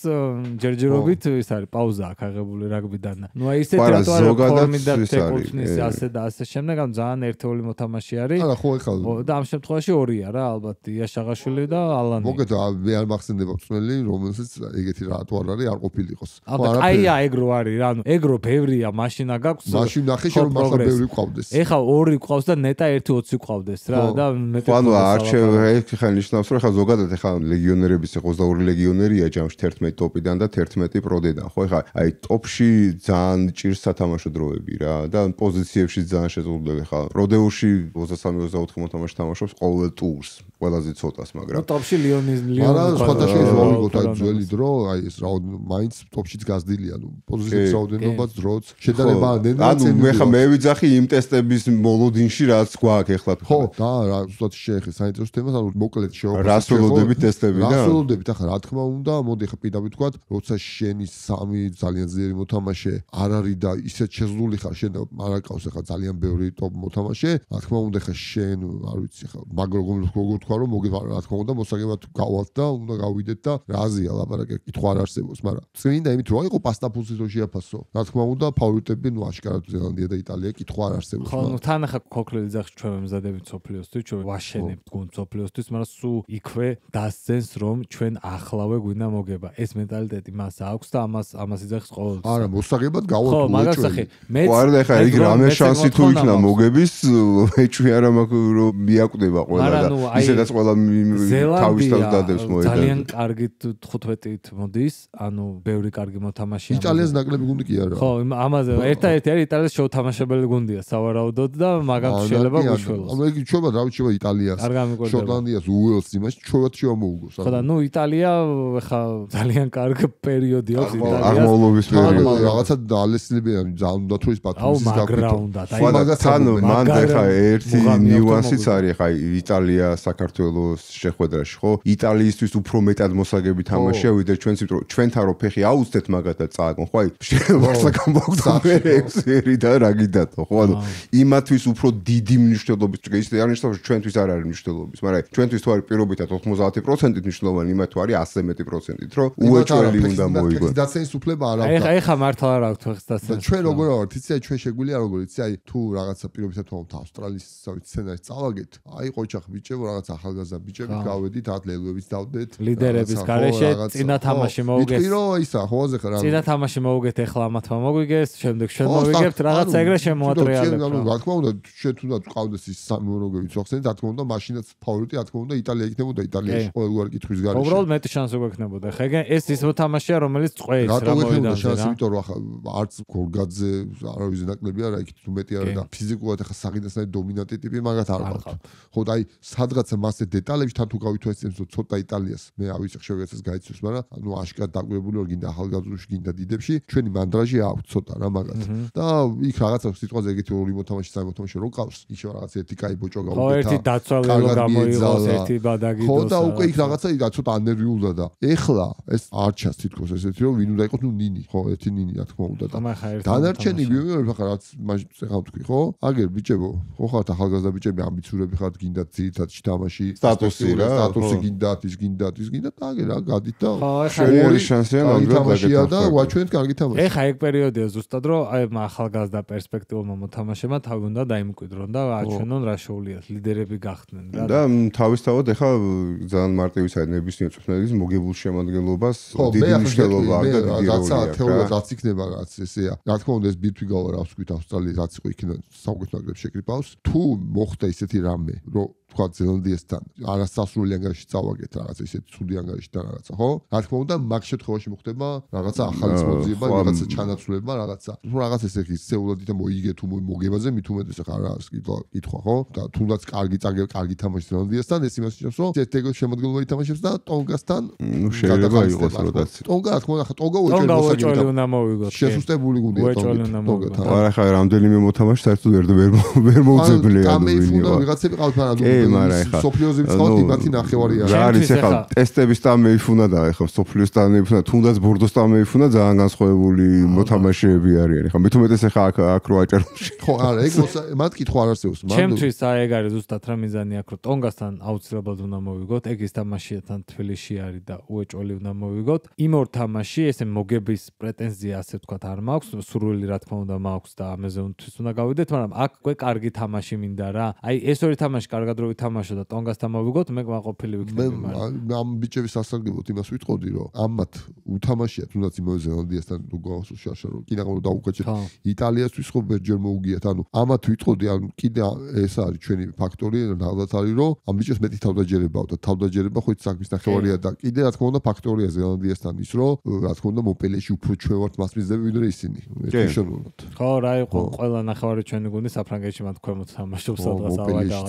ჯერჯერობით ის არის პაუზა აქვს აღებული რაგბიდან ნუ აი ისეთ რატო არ არის ფორმი და ტექნიკის ასე და ასე შემდეგ ამ ძალიან ერთეული მოთამაშე არის არა ხო ეხლა და ამ შემთხვევაში ორია რა ალბათ იაშაღაშვილი და ალანი მოგეთა მე არ მახსენდება წველი რომელსაც ეგეთი რატო არ არის არ ყოფილიყოს ხო აია ეგრო არის რა ანუ ეგრო ბევრია მაშინა გაქვს მაშინ ნახე რომ მართლა ბევრი ყავდეს ეხლა ორი ყავს და ნეტა ერთი ოცი ყავდეს რა და მეტი ანუ არჩევ ეხლა ნიშნავს რომ ეხლა ზოგადად ეხლა ლეგიონერების ოცდაორი ლეგიონერია ჯამში თერთმეტი ტოპიდან და თერთმეტი პროდიდან ხო ეხლა აი ტოპში ძალიან ჭირს სათამაშო დროები რა და პოზიციებში ძალიან შეზღუდული ხა პროდეუში ოცდასამი ოცდაოთხი მოთამაშე თამაშობს ყოველ ტურს ყველაზე ცოტას მაგრამ ტოპში ლიონის ლიონი არა სხვადასხვა ზოლიგოთ აი ძველი დრო აი ეს რა მაინც ტოპშიც გაზდილია ნუ პოზიციების რაოდენობაც დროც შედარება ანუ მე ხა მე ვიძახი იმ ტესტების მოლოდინში რაც გვაქვს ეხლა ხო და რა ზუსტად შეეხე საინტერესო თემას ანუ მოკლედ შევაფასოთ რას ველოდებით ტესტები და რას ველოდებით ახლა რა თქმა უნდა მოდი ხა პირდაპირ ვთქვა როცა შენი სამი ძალიან ძლიერი მოთამაშე არ არის და ისეთ შეზღუდული ხარ შენ არ აკავს ახლა ძალიან ბევრი ტოპ მოთამაშე რა თქმა უნდა ხა შენ არ ვიცი ხა მაგ როგორ როგორ თქვა რომ მოგი რა თქმა უნდა მოსაგებად გავალთ და უნდა გავიდეთ და რაზია ლაპარაკი კითხვა არ არსებობს მაგრამ წმინდა იმით რომ იყო პასტაფუსის რო შეაფასო რა თქმა უნდა ფავორიტები ნუ აშკარად ზელანდია და იტალია კითხვა არ არსებობს ხო ნუ თან ახლა ქოქლელი ძახში ჩვენ მზადებით სოფლიოსთვის ჩვენ ვაშენებთ გუნდ სოფლიოსთვის მაგრამ სულ იქვე დასცენს რომ ჩვენ ახლავე გვინდა მოგება ეს მენტალიტეტი მას აქვს და ამას ამას იძახის ყოველთვის არა მოსაგებად გავალთ ხო მაგას ახი მე ვარ და ხა იქ რამე შანსი თუ იქნა მოგების ეჭვი არა მაქვს რომ მიაკვდება ყველა და ისედაც ყველა თავის თავს დადებს მოედანზე ძალიან კარგით თხუთმეტით მოდის ანუ ბევრი კარგი მოთამაშეა იტალიის ნაკლები გუნდი კი არა ხო ამაზე ერთადერთი არის იტალიის შეუთამაშებელი გუნდია სავარაუდოდ და მაგათ შეიძლება გუშველოს ანუ ეგ ჩვევა რა ვიცი იტალიას შოტლანდიას უელს იმაში ჩვევა შემოუგოს ხო და ნუ იტალია ხა ძალიან კარგი პერიოდი აქვს იტალიას აღმავლობის პერიოდი რაღაცა დალესნებიან ძალიან უნდა თუ ის პატრონის გაკეთო ხო და თან მანდ ხა ერთი ნიუანსიც არის ხა იტალია საქართველოს საქართველოს შეხვედრაში, ხო? იტალიისთვის უფრო მეტად მოსაგები თამაშია, ვიდრე ჩვენს, იმიტომ რომ ჩვენთან რო ფეხი აუცდეთ მაგათაც წააგონ, ხო? აი, შეიძლება გამოგდო მე ექსერი და რა გიდათო, ხო? ანუ იმათვის უფრო დიდი მნიშვნელობის, ისე არ ნიშნავს, რომ ჩვენთვის არ არის მნიშვნელობის, მაგრამ ჩვენთვის თუ არის პირობითად ოთხმოცდაათი პროცენტით მნიშვნელოვანი, იმათ თუ არის ასზე მეტი პროცენტით, რომ უეჭველი უნდა მოიგო. დაცენის უფლება არ აქვს. აი, ხა მართლა არ აქვს ფეხის დაცენის. ჩვენ როგორ ვართ, იცი, აი ჩვენ შეგვიძლია როგორ იცი, აი თუ რაღაცა პირობითად თვალთ ავსტრალიის სცენარს წავაგეთ, აი ყოჩახ ბიჭებო, რაღაც ახალგაზრდა ბიჭები გავედით, ათ ლელოებიც დავდეთ. ლიდერების გარეშე წინა თამაში მოუგეს. ვიტყვი რომ ისა, ხო, ზეხ რა. წინა თამაში მოუგეთ, ეხლა ამათმა მოგვიგეს, შემდეგ ჩვენ მოვიგებთ, რაღაცა ეგრე შემოატრიალებთ. ანუ რა თქმა უნდა, ჩვენ თუნდაც ყავდეს ის სამი მოროგები წახსენით, რა თქმა უნდა, მაშინაც ფავორიტი, რა თქმა უნდა, იტალია იქნებოდა, იტალიაში ყოველგვარი კითხვის გარეშე. უბრალოდ მეტი შანსი გვექნებოდა. ხა ეს ის თამაშია, რომელიც წყვეის რა მოვიდა შანსი, იმიტომ რომ ახლა არც გორგაძე არავის ნაკლებია, რა იქით უმეტი არის და ფიზიკურად ახლა საღინდასთან დომინანტი ტიპი მაგათ არ ყავთ. ხო და აი სადღაცა მასე დეტალებში თან თუ გავითვალისწინებთ, რომ ცოტა იტალიას მე ავიცი შევეცეს გაიცნოს, მაგრამ ანუ აშკარად დაკვირებული ვარ გინდა ახალგაზრდებში, გინდა დიდებში, ჩვენი მანდრაჟი აქვს ცოტა რა მაგათ. და იქ რაღაცა სიტყვაზე ეგეთი ორი მოთამაშე, სამი მოთამაშე რო ყავს, ისე რაღაც ერთი კაი ბოჭო გავუკეთა. ხო, ერთი დაცვალებო გამოიღოს, ერთი ბადაგიდოს. ხო და უკვე იქ რაღაცა იქ ცოტა ანერვიულდა და ეხლა ეს არ ჩანს თითქოს ესეთი რომ ვინ უნდა იყოს ნუ ნინი, ხო, ერთი ნინი რა თქმა უნდა და დანარჩენი ვიღებ ახლა რაც ხა თქვი, ხო? აგერ ბიჭებო, ხო ხართ ახალგაზრდა ბიჭები, ამბიციურები ხართ, გინდათ ძირითადად თამაში, სტატუსი რა, სტატუსი გინდათ, ის გინდათ, ის გინდათ, აგერ რა გადით და შენი შანსია მაგათამაშია და ვაჩვენეთ კარგი თამაში. ეხა ეგ პერიოდია ზუსტად რომ აი ახალგაზრდა პერსპექტიულმა მოთამაშემა თავი უნდა დაიმკვიდრონ და აჩვენონ რა შეუულიათ, ლიდერები გახდნენ რა. და თავისთავად ეხა ძალიან მარტივი საერთოდ ნებისმიერ წვრთნელის მოგებულ შემადგენლობას დიდი მნიშვნელობა აქვს და დიდი რაღაცა თეორიად რაც იქნება რაც ესეა. რა თქმა უნდა ეს ბირთვი გავა რა ვსქვით ავსტრალიის რაც იყო იქიდან საუკეთესო ნაკრებს შეკრიბავს. თუ მოხდა ისეთი რამე, რომ თქვა ზელანდიასთან არასასრული ანგარიში წავაგეთ რაღაცა ისეთი ცუდი ანგარიში და რაღაცა, ხო? რა თქმა უნდა მაგ შემთხვევაში მოხდება რაღაცა ახალი მოძიება, რაღაცა ჩანაცვლება, რაღაცა. თუ რაღაც ესე ის სეულად და მოიგე თუ მოგებაზე მით უმეტეს ახლა რა კითხვა, ხო? და თუნდაც კარგი წაგებ, კარგი თამაში ზელანდიასთან ეს იმას ნიშნავს, რომ ერთ ეგრე შემოდგენილობრივი თამაშებს და ტონგასთან ნუ შეიძლება იყოს როდაც. ტონგა რა თქმა უნდა ახლა ტონგა უეჭველი უნდა მოვიგოთ. შესუსტებული გუნდია ტონგა. არა ხა რამდენიმე მოთამაშე საერთოდ ვერ ვერ მოუძებელია ანუ ვინო ვიღაცები ყავთ მაგრამ სოფლიოზე ვწყავთ იმათი ნახევარია რა არის ახლა ტესტების და მეიფუნა და ახლა სოფლიოს და მეიფუნა თუნდაც ბორდოს და მეიფუნა ძალიან განსხვავებული მოთამაშეები არიან ახლა მით უმეტეს ახლა აქ აქ რო აჭაროში ხო არა ეგ მათ კითხვა არ არსებობს მაგრამ ჩემთვის აი ეგ არის ზუსტად რა მიზანი აქ რომ ტონგასთან აუცილებლად უნდა მოვიგოთ ეგ ის თამაშია თან თბილისში არის და უეჭველი უნდა მოვიგოთ იმ ორ თამაში ესე მოგების პრეტენზია ასე ვთქვათ არ მაქვს სურვილი რა თქმა უნდა მაქვს და ამაზონთვის უნდა გავიდეთ მაგრამ აქ კვე კარგი თამაში მინდა რა აი ეს ორი თამაში კარგად რო ვითამაშო და ტონგასთან მოვიგოთ მე ყვაყოფილი ვიქნები მაგრამ ამ ბიჭების სასარგებლოდ იმას ვიტყოდი რომ ამათ უთამაშია თუნდაც იმავე ზელანდიასთან თუ გავასულ შაშა რომ კიდე რომ დაუკაჭეთ იტალიასთვის ხო ბერჯერ მოუგიათ ანუ ამათ ვიტყოდი ან კიდე ეს არის ჩვენი ფაქტორი რაღაც არის რომ ამ ბიჭებს მეტი თავდაჯერება აქვს და თავდაჯერება ხო საქმის ნახევარია და კიდე რა თქმა უნდა ფაქტორია ზელანდიასთან ის რომ რა თქმა უნდა მოპელეში უფრო ჩვენ ვართ მასპინძლები ვიდრე ისინი ერთიშოვნურად ხო რა იყო ყველა ნახევარი ჩვენი გუნდი საფრანგეთში მათ ქვემოთ თამაშობს სადღაც ავაგა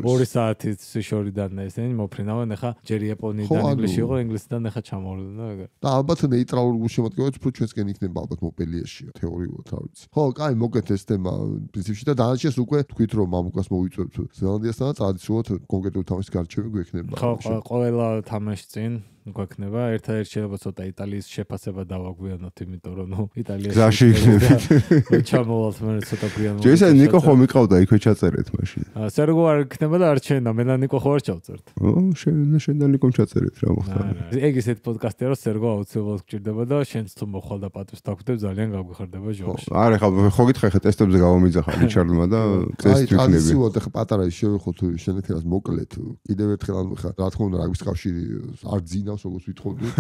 ორი საათის შორიდან ესენი მოფრინავენ ახლა ჯერ იაპონიიდან ინგლისში იყო ინგლისიდან ახლა ჩამოვიდა და ეგრე და ალბათ ნეიტრალურ გულშემატკივრად უფრო ჩვენსკენ იქნება ალბათ მოპელიეში თეორიულად რა ვიცი ხო კაი მოგეთ ეს თემა პრინციპში და დანარჩენს უკვე თქვით რომ მამუკას მოვიწვევთ ზელანდიასთან და ტრადიციულად კონკრეტული თამაშის გარჩევი გვექნება ხო ყველა თამაში წინ გვექნება ერთადერთი შეიძლება ცოტა იტალიის შეფასება დავაგვიანოთ იმიტომ რომ ნუ იტალიაში გზაში იქნებით ჩამოვალთ მე ცოტა გვიან ჯერ ნიკო ხომ იყავდა იქვე ჩაწერეთ მაშინ სერგო არ იქნება და არ ჩენდა მე და ნიკო ხო არ ჩავწერთ ო შენ შენ და ნიკომ ჩაწერეთ რა მოხდა ეგ ისეთ პოდკასტია რომ სერგო აუცილებლად გჭირდება და შენც თუ მოხვალ და პატვის დაგვდებ ძალიან გაგვიხარდება ჟოქში არა ხა ხო გითხე ხა ტესტებზე გავამიძახა რიჩარდმა და ტესტი ვიქნები აი ტრადიციულად ხა პატარა შევეხოთ შენეთელას მოკლედ კიდევ ერთხელ ანუ ხა რა თქმა უნდა რაგბის კავშირი არ ძინა როგორც ვითხოვდით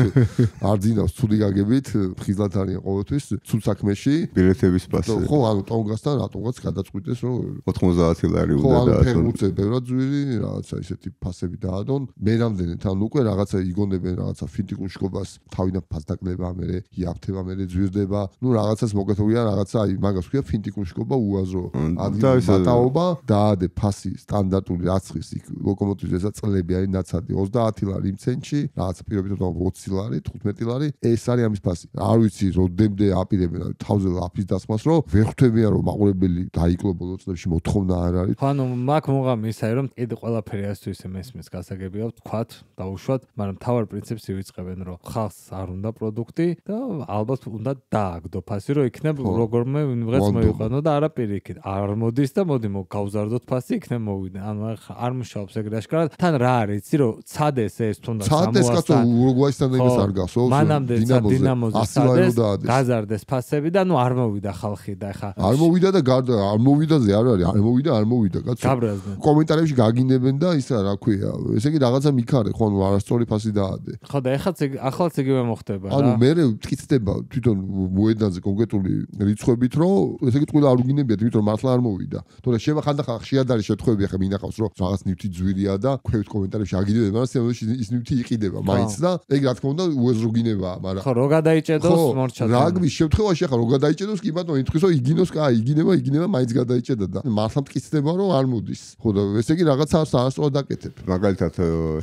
არ ძინავს ცუდი გაგებით ხიზლად არიან ყოველთვის ცუდ საქმეში ბილეთების პასე ხო ანუ ტონგასთან რატომღაც გადაწყვიტეს რომ ოთხმოცდაათი ლარი უნდა და ხო ანუ ფეხბურთზე ბევრად ძვირი რაღაცა ისეთი ფასები დაადონ მე რამდენი თან უკვე რაღაცა იგონებენ რაღაცა ფინტიკუშკობას თავიდან ფასდაკლება მერე იაფთება მერე ძვირდება ნუ რაღაცას მოგეთოვია რაღაცა აი მაგას ქვია ფინტიკუშკობა უაზრო ადგილი ბატაობა დაადე ფასი სტანდარტული რაცხის იქ ლოკომოტივზესაც წლები არის ნაცადი ოცდაათი ლარი იმ ცენტში რაღაც პირობით ოცი ლარი, თხუთმეტი ლარი, ეს არის ამის ფასი. არ ვიცი, როდემდე აპირებენ თავზე ლაფის დასმას, რომ ვერ ხვდებიან რომ მაყურებელი დაიკლო ბოლო წლებში მოთხოვნა არ არის. ხო, ანუ მაგ მოგამი ისე რომ კიდე ყველაფერი ასე ისე მესმის გასაგებია ვთქვათ, დაუშვათ, მაგრამ თავარ პრინციპს ივიწყებენ, რომ ხალხს არ უნდა პროდუქტი და ალბათ უნდა დააგდო ფასი, რომ იქნებ როგორმე ვიღაც მოიყვანო და არა პირიქით. არ მოდის და მოდი მოგავზარდოთ ფასი, იქნებ მოვიდა. ანუ არ მუშაობს ეგრე აშკარად. თან რა არის, იცი რომ ცადეს ეს თუნდაც ცადეს კაცო ურუგვაისთან იმას არ გასულს. მანამდე დინამოზე ცადეს, გაზარდეს ფასები და ნუ არ მოვიდა ხალხი და ეხა არ მოვიდა და გარდა არ მოვიდაზე არ არის, არ მოვიდა, არ მოვიდა კაცო. გაბრაზდნენ. კომენტარებში გაგინებენ და ისა რა ქვია, ესე იგი რაღაცა მიქარე, ხო, ანუ არასწორი ფასი დაადე. ხო და ეხაც ახლაც იგივე მოხდება რა. ანუ მე მტკიცდება თვითონ მოედანზე კონკრეტული რიცხვებით, რომ ესე იგი ტყუილა არ უგინებიათ, იმიტომ რომ მართლა არ მოვიდა. თორე შევა ხანდახან ხშირად არის შეთხვევები, ახლა მინახავს რომ რაღაც ნივთი ძვირია და ქვევით კომენტარებში აგინებენ, მაგრამ სიამოვნებაში ის ნივთი იყიდება მაინც და ეგ რა თქმა უნდა უეზროგინებაა, მაგრამ ხო, რო გადაიჭედოს მორჩა. რაგბის შემთხვევაში ახლა რო გადაიჭედოს კი ბატონო, ითქვის რომ იგინოს, კაი, იგინება, იგინება, მაინც გადაიჭედა და მართლა მტკიცდება რომ არ მოდის. ხო და ესე იგი რაღაცა არასწორად დაკეთებ. მაგალითად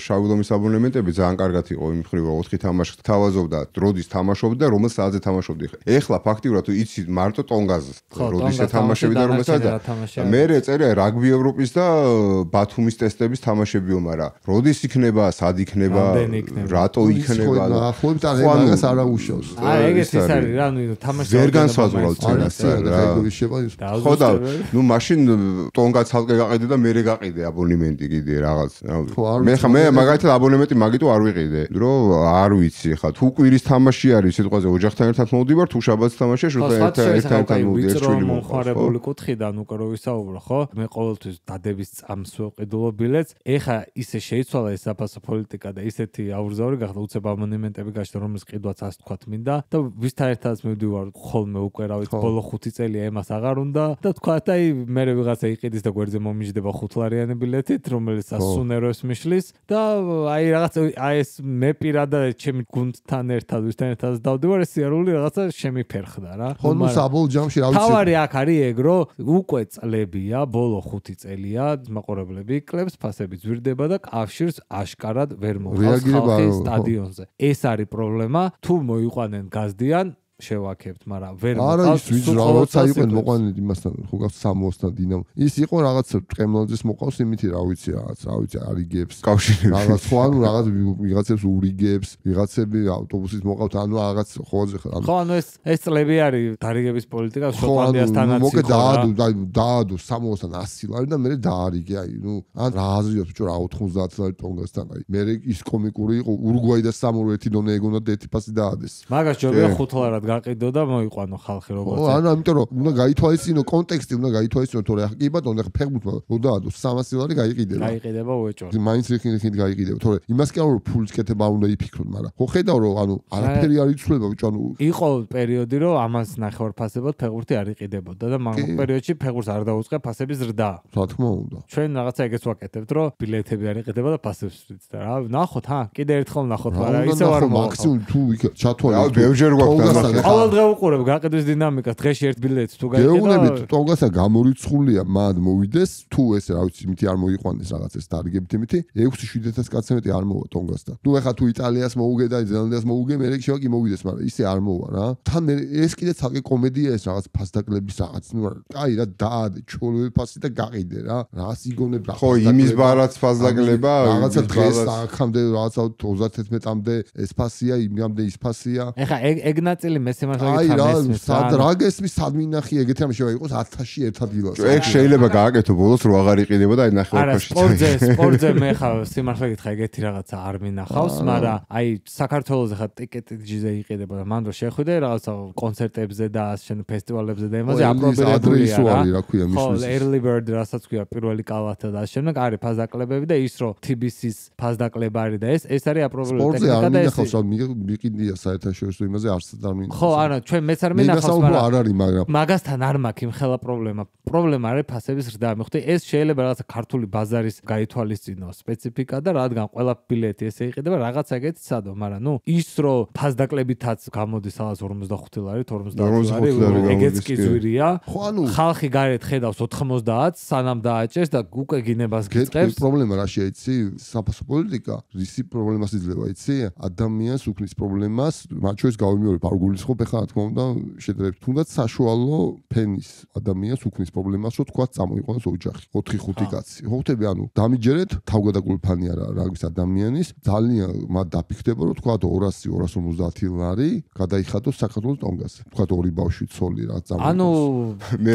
შავი ლომის აბონემენტები ძალიან კარგად იყო იმ მხრივ რომ ოთხი თამაში თავაზობდა, როდის თამაშობდი და რომელ საათზე თამაშობდი. ეხლა ფაქტიურად იცი მარტო ტონგაზს, როდის ეთამაშები და რომელ საათზე. მე წერია რაგბი ევროპის და ბათუმის ტესტების თამაშებიო, მაგრამ როდის იქნება, სად იქნება, რატო იქნება და ახლობთ ან მაგას არ აუშავს. აი ეგეც ის არის რა, ნუ თამაში ვერ განსაზღვრავ წერას რა. ხო და ნუ მაშინ ტონგა ცალკე გაყიდე და მე გაყიდე აბონემენტი კიდე რაღაც. მე ხა მე მაგალითად აბონემენტი მაგიტო არ ვიყიდე, რომ არ ვიცი ხა თუ კვირის თამაში არის სიტყვაზე ოჯახთან ერთად მოვდივარ, თუ შაბათს თამაშია შუთა ერთად მოვდივარ შვილი მომხარებული კუთხიდან უკვე რო ვისაუბრო, ხო? მე ყოველთვის დადების წამს ვეყიდულო ბილეთს. ეხა ისე შეიცვალა ეს საფასო პოლიტიკა და ისეთი აურზაური გახდა უცებ აბონემენტები გაშდა, რომელიც ყიდვაც ასე თქვათ მინდა და ვისთან ერთადაც მივდივარ ხოლმე უკვე რა ვიცი ბოლო ხუთი წელია ემას აღარ უნდა და თქვათ აი მე ვიღაცა იყიდის და გვერდზე მომიჯდება ხუთლარიანი ბილეთით, რომელიც ასუნეროს მიშლის და აი რაღაც აი ეს მე პირადად ჩემი გუნდთან ერთად ვისთან ერთად დავდივარ, ეს სიარული რაღაცა შემიფერხდა რა. ხო ნუ საბოლოო ჯამში რა ვიცი. თავარი აქ არის ეგ, რომ უკვე წლებია, ბოლო ხუთი წელია მაყურებლები კლებს, ფასები ძვირდება და კავშირს აშკარად ვერ მოხავს ხალხის სტადიონზე. ეს არის პრობლემა, თუ მოიყვანენ გაზდიან შევაქებთ, მაგრამ ვერ მოყავს. არა, ის როცა იყვნენ მოყვანილი იმასთან, ხო გავს სამოსთან დინამო. ის იყო რაღაც ტყემლაძეს მოყავს იმითი, რა ვიცი, რაღაც, რა ვიცი, არიგებს. კავშირი. რაღაც ხო, ანუ რაღაც ვიღაცებს ურიგებს, ვიღაცები ავტობუსით მოყავთ, ანუ რაღაც ხოზე ხო. ხო, ანუ ეს ეს წლები არის დარიგების პოლიტიკა შოტლანდიასთანაც. მოკე დაადო, დაადო სამოსთან ასი ლარი და მე დაარიგე, აი, ნუ ან რა აზრია თუ რა ოთხმოცდაათი ლარი ტონგასთან, აი. მე ის კომიკური იყო, ურუგვაი და სამორი ერთი დონე ეგონა და ერთი ფასი დაადეს. მაგას ჯობია ხუთ ლარად გაყიდო და მოიყვანო ხალხი როგორც. ხო, ანუ ამიტომ რომ უნდა გაითვალისწინო კონტექსტი, უნდა გაითვალისწინო, თორე კი ბატონო, ახლა ფეხბურთმა როდაადო სამასი ლარი გაიყიდება. გაიყიდება უეჭვად. მაინც რიხინი გაიყიდება, თორე იმას კი არა რომ ფულის კეთება უნდა იფიქროთ, მაგრამ ხო ხედავ რომ ანუ არაფერი არ იცვლება, ბიჭო, ანუ იყო პერიოდი რომ ამას ნახევარფასებად ფეხბურთი არ იყიდებოდა და მაგ პერიოდში ფეხბურთს არ დაუწყე ფასების ზრდა. რა თქმა უნდა. ჩვენ რაღაცა ეგეც ვაკეთებთ, რომ ბილეთები არ იყიდება და ფასებს ვწვით და რა, ნახოთ, ჰა, კიდე ერთხელ ნახოთ, მაგრამ ისე არ მოხდა. მაქსიმუმ თუ ჩათვალე. რა, ბევრჯერ გვაქვს ყოველ დღე უყურებ გაყიდვის დინამიკას, დღეში ერთ ბილეთს თუ გაიყიდა. გეუბნებით, ტონგასა გამორიცხულია, მად მოვიდეს, თუ ეს რა ვიცი, იმითი არ მოიყვანეს რაღაც ეს დარიგებით იმითი, ექვსი შვიდ ათასი მეტი არ მოვა ტონგასთან. ნუ ეხა თუ იტალიას მოუგე და ზელანდიას მოუგე, მე შევა კი მოვიდეს, მაგრამ ისე არ მოვა რა. თან ეს კიდე ცალკე კომედია ეს რაღაც ფასდაკლების რაღაც, ნუ აი რა დაადე, ჩოლოვე ფასი და გაყიდე რა. რას იგონებ რა. ხო, იმის ბარაც ფასდაკლება, რაღაცა დღეს აქამდე რაღაცა ოცდათერთმეტამდე ეს ფასია, იმამდე ის ფასია. ეხა ეგ ეგ ნაწილი მე სიმართლე აი რა, სად რა გესმის, სად მინახი ეგეთი რამე შევა იყოს ათასში ერთ ადგილას. ეგ შეიძლება გააკეთო ბოლოს რო აღარ იყიდება და აი ნახევარფასში. არა, სპორტზე, სპორტზე მე ხა სიმართლე გითხრა ეგეთი რაღაცა არ მინახავს, მაგრამ აი საქართველოს ხა ტიკეტიჯზე იყიდება და მანდ რო შეხვიდე რაღაცა კონცერტებზე და ასენ ფესტივალებზე და იმაზე აპრობირებულია რა ქვია მის. ხო, early bird რასაც ქვია პირველი კალათა და ასე შემდეგ არის ფასდაკლებები და ის რო თი ბი სის ფასდაკლება არის და ეს ეს არის აპრობირებული ტექნიკა და ეს სპორტზე არ მინახავს, რა მიყიდია საერთაშორისო იმაზე არც არ მინახავს. ხო, არა, ჩვენ მეც არ მენახავს, მაგრამ არ არის, მაგრამ მაგასთან არ მაქვს იმ ხელა პრობლემა. პრობლემა არის ფასების ზრდა. მეხუთე ეს შეიძლება რაღაცა ქართული ბაზარის გაითვალისწინო სპეციფიკა და რადგან ყველა ბილეთი ესე იყიდება რაღაცა ეგეთი სადო, მაგრამ ნუ ის რომ ფასდაკლებითაც გამოდის რაღაც ორმოცდახუთი ლარი, ორმოცდაათი ლარი, ეგეც კი ზვირია. ხო, ანუ ხალხი გარეთ ხედავს ოთხმოცდაათს, სანამ დააჭერს და უკვე გინებას გიწყებს. პრობლემა რა შეიცი? საფასო პოლიტიკა, ისი პრობლემას იძლევა, იცი? ადამიანს უქმნის პრობლემას, მათ შორის გავიმეორებ, არ გულისხმობ ეხლა რა თქმა უნდა, შეძლებთ თუნდაც საშუალო ფენის ადამიანს უქმნის პრობლემას, რომ თქვა წამოიყვანოს ოჯახი, ოთხი ხუთი კაცი. ხო ხტები, ანუ დამიჯერეთ, თავგადაკულფანი არა რაგვის ადამიანის, ძალიან მათ დაფიქრდება, რომ თქვა ორასი ორას ორმოცდაათი ლარი გადაიხადოს საქართველოს ტონგაზე. თქვა ორი ბავშვი ცოლი რა წამოიყვანოს. ანუ მე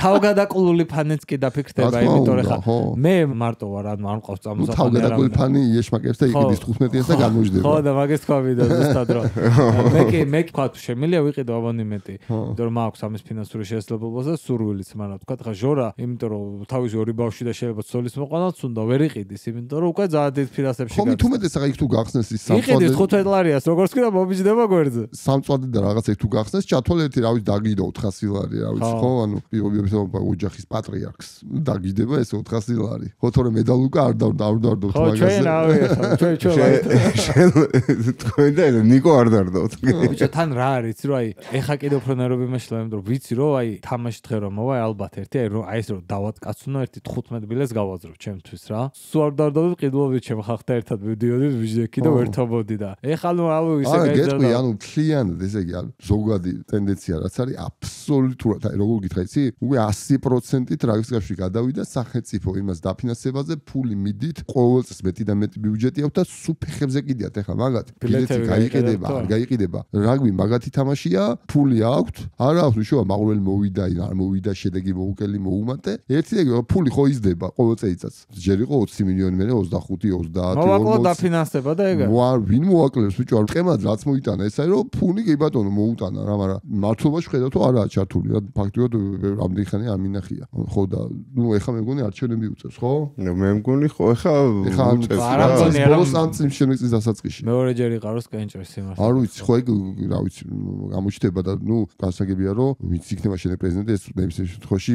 თავგადაკულული ფანიც კი დაფიქრდება, იმიტომ რომ ხა მე მარტო ვარ, ანუ არ მყავს წამოსაფანი. თავგადაკულული ფანი იეშმაკებს და იყიდის თხუთმეტიანს და გამოჯდება. ხო და მაგას თქვა ვიდა ზუსტად რომ მე კი მე თქვა შემიძლია ვიყიდო აბონემენტი, იმიტომ რომ მაქვს ამის ფინანსური შესაძლებლობა და სურვილიც, მაგრამ თქვა ხა ჟორა, იმიტომ რომ თავისი ორი ბავშვი და შეიძლება ცოლის მოყანაც უნდა ვერ იყიდის, იმიტომ რომ უკვე ძალიან დიდ ფინანსებში გაქვს. ხო, თუმცა ეს იქ თუ გახსნეს ის სამწვადი. იყიდის ხუთმეტ ლარიას, როგორც კი და მომიჯდება გვერდზე. სამწვადი და რაღაცა თუ გახსნეს, ჩათვალ ერთი რა ვიცი დაგიდო ოთხასი ლარი, რა ვიცი, ხო, ანუ პირობითად ოჯახის პატრიარქს დაგიდება ეს ოთხასი ლარი. ხო, თორე მედალუკა არ დავდარდოთ მაგაზე. ხო, ჩვენ ავი ხა, ჩვენ ჩვენ თქვენ და ნიკო არ დარდოთ. ბიჭო, თან რა არის, რომ აი, ეხა კიდე უფრო ნერვები მეშლა, იმიტომ რომ ვიცი რომ აი, თამაში დღე რომ მოვა, ალბათ ერთი აი რომ აი ეს რომ დავატკაცუნო ერთი თხუთმეტ ბილეთს გავაძრო ჩემთვის რა. სულ არ დარდობ ყიდულობით ჩემ ხალხთან ერთად მივდიოდი ვიჟდექი და ვერთობოდი და ეხა ნუ აუ ისე გაიძრა. არა, ანუ მთლიანად ესე იგი, ანუ ზოგადი ტენდენცია რაც არის აბსოლუტურად, აი როგორ გითხრა იცი? უკვე ასი პროცენტით რაგისკაში გადავიდა სახელმწიფო იმას დაფინანსებაზე, ფული მიდით, ყოველ წელს მეტი და მეტი ბიუჯეტი აქვს და სუფეხებზე კიდიათ ეხლა მაგათი. ბილეთი გაიყიდება, არ გაიყიდება. რაგბი მაგათი თამაშია, ფული აქვს, არ აქვს უშუალო მაყურებელი მოვიდა, არ მოვიდა, შედეგი მოუკელი მოუმატე. ერთი ეგ ფული ხო იზრდება ყოველ წელიწადს. ჯერ იყო ოცი მილიონი, მერე ოცდახუთი, ოცდაათი, ორმოცი. მოვაკლო დაფინანსება და ეგა. ვარ, ვინ მოაკლებს ბიჭო, არ მყემად რაც მოიტანა, ეს არის რომ ფული კი ბატონო მოუტანა რა, მაგრამ მართლობაში ხედავ თუ არაა ჩართული, რა ფაქტობრივად ამდენი ხანი არ მინახია. ხო და ნუ ეხლა მე მგონი არჩევნები უწევს, ხო? მე მგონი ხო ეხლა უწევს. ბოლოს ამ წლის შემეწის დასაწყისში. მეორეჯერ იყაროს კენჭერს იმას. არ ვიცი, ხო ეგ რა ვიცი, გამოჩნდება და ნუ გასაგებია რომ ვინც იქნება შენ პრეზიდენტი, ეს ნებისმიერ შემთხვევაში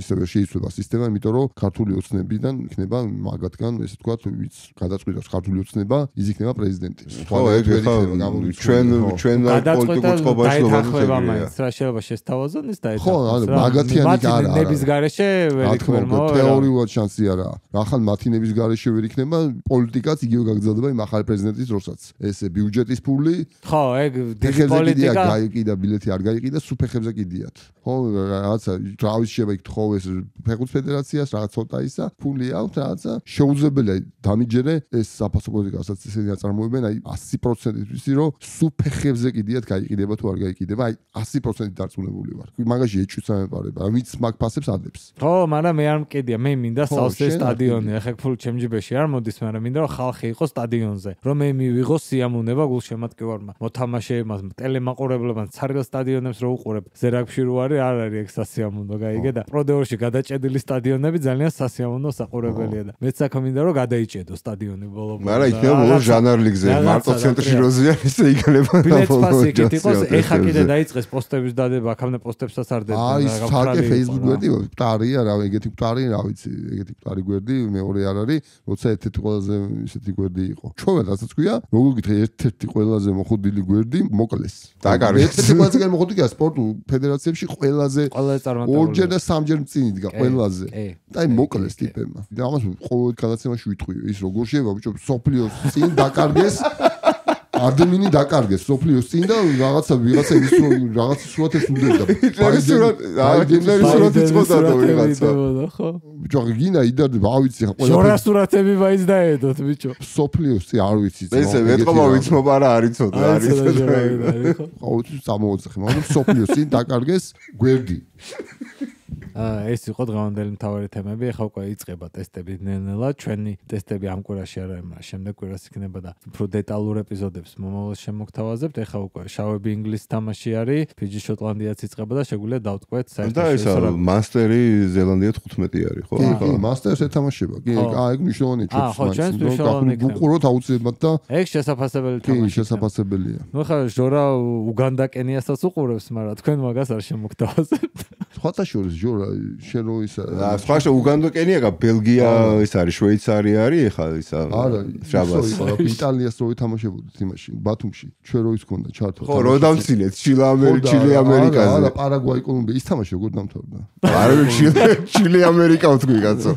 ისევე შეიცვლება სისტემა, იმიტომ რომ ქართული ოცნებიდან იქნება მაგათგან, ესე ვთქვათ, ვინც გადაწყვიტავს ქართული ოცნება, ის იქნება პრეზიდენტი. ხო ეგ ეხლა ჩვენ ჩვენ პოლიტიკურ წყობაში დაეთანხმება მაინც რა შეიძლება შესთავაზონ ის დაეთანხმება. ხო, ანუ მაგათიანი კი არა. ნების გარეშე ვერ იქნება. თეორიულად შანსი არა. ახალ მათი ნების გარეშე ვერ იქნება, პოლიტიკაც იგივე გაგრძელდება იმ ახალი პრეზიდენტის დროსაც. ესე ბიუჯეტის ფული. ხო, ეგ დიდი პოლიტიკა გაიყიდა, ბილეთი არ გაიყიდა, სუფეხებზე კიდიათ. ხო, რაღაცა თავის შეიძლება იქ თხოვ ეს ფეხბურთის ფედერაციას, რაღაც ცოტა ისა, ფული აქვს, რაღაცა შეუძლებელია დამიჯერე ეს საფასო პოლიტიკასაც ისინი აწარმოებენ, აი ასი პროცენტით ვიცი რომ სუფეხებზე კიდიათ გაიყიდება თუ არ გაიყიდება, აი ასი პროცენტით დარწმუნებული ვარ. მაგაში ეჭვიც ამეპარება, ვინც მაგ ფასებს ადებს. ხო, მაგრამ მე არ მყიდია, მე მინდა სავსე სტადიონი, ახლა ფული ჩემ ჯიბეში არ მოდის, მაგრამ მინდა რომ ხალხი იყოს სტადიონზე, რომ მე მივიღო სიამოვნება გულშემატკივარმა, მოთამაშეებმა, ტელემაყურებლებმა, ცარგელ სტადიონებს რო უყურებ, ზერაგში რო არის, არ არის ეგ სასიამოვნო, გაიგე და პროდეორში გადაჭედილი სტადიონები ძალიან სასიამოვნო საყურებელია და მეც აქ მინდა რომ გადაიჭედო სტადიონი ბოლო-ბოლო. მაგრამ იქნება ბოლო ჟანარ ლიგზე, მარტო ცენტრში როზიან ისე იქნება. ბილეთს ფასი იქით იყოს, ეხა კიდე დაიწყეს პოსტების დადება, აქამდე პოსტებსაც არ დებდა. აი, ფაქტი Facebook გვერდი, მკვდარია რა, ეგეთი მკვდარი, რა ვიცი, ეგეთი მკვდარი გვერდი, მეორე არ არის, როცა ერთ-ერთი ყველაზე ისეთი გვერდი იყო. ჩვენ რასაც ქვია, როგორ გითხრა, ერთ-ერთი ყველაზე მოხდილი გვერდი მოკლეს. დაკარგეს. ერთ-ერთი ყველაზე მოხდილია სპორტულ ფედერაციებში ყველაზე ყველაზე წარმატებული. ორჯერ და სამჯერ წინ იდგა ყველაზე. და აი მოკლეს ტიპებმა. და ამას ყოველ გადაცემაში ვიტყვი, ის როგორ შეიძლება ბიჭო, სოფლიოს წინ დაკარგეს. ადმინი დაკარგეს სოფლიოს წინ და რაღაცა ვიღაცა ის რაღაც სურათებს უნდოდა. სურათ, აიდენერი სურათი წოდა და ვიღაცა. ხო. ბიჭო, გინა იდარდება, ავიცი ხა ყველა. შორა სურათები მაინც დაედოთ, ბიჭო. სოფლიოს წინ არ ვიცი. ესე ვეთყობა ვიცმობა რა არის ცოტა არის. ხო, წამოუცხე, მაგრამ სოფლიოს წინ დაკარგეს გვერდი. ეს იყო დღევანდელი მთავარი თემები. ეხლა უკვე იწყება ტესტები ნელ-ნელა. ჩვენი ტესტები ამ კვირაში არა, მაგრამ შემდეგ კვირას იქნება და უფრო დეტალურ ეპიზოდებს მომავალ შემოგთავაზებთ. ეხლა უკვე შავები ინგლისის თამაში არის, ფიჯი შოტლანდიაც იწყება და შეგვიძლია დავტყვეთ საერთოდ. და ეს მასტერი ზელანდია თხუთმეტი არის, ხო? კი, მასტერს ეთამაშება. კი, აა ეგ მნიშვნელოვანია ჩვენთვის. ხო, ჩვენთვის მნიშვნელოვანია. უყუროთ აუცილებლად და ეგ შესაძლებელი თამაში. კი, შესაძლებელია. ნუ ხა ჟორა უგანდა კენიასაც უყურებს, მაგრამ თქვენ მაგას არ შემოგთავაზებთ. სხვათა შორის ჟორა შენ რო ისა სხვა შე უგანდა კენია, ბელგია ის არის, შვეიცარია არის, ეხლა ისა არა, შაბას. იტალიას რო ეთამაშებოდით იმაში, ბათუმში, ჩვენ რო ის ქონდა ჩართო. ხო, რო დამცინეთ, ჩილე ამერიკა, ჩილე ამერიკაზე. არა, პარაგვაი, კოლუმბია ის თამაში როგორ დამთავრდა? არა, ჩილე, ჩილე ამერიკა ვთქვი კაცო.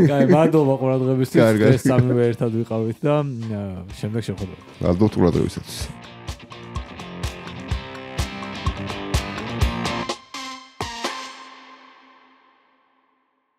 კაი, მადლობა ყურადღებისთვის. ეს სამივე ერთად ვიყავით და შემდეგ შეხვედრა. მადლობთ ყურადღებისთვის.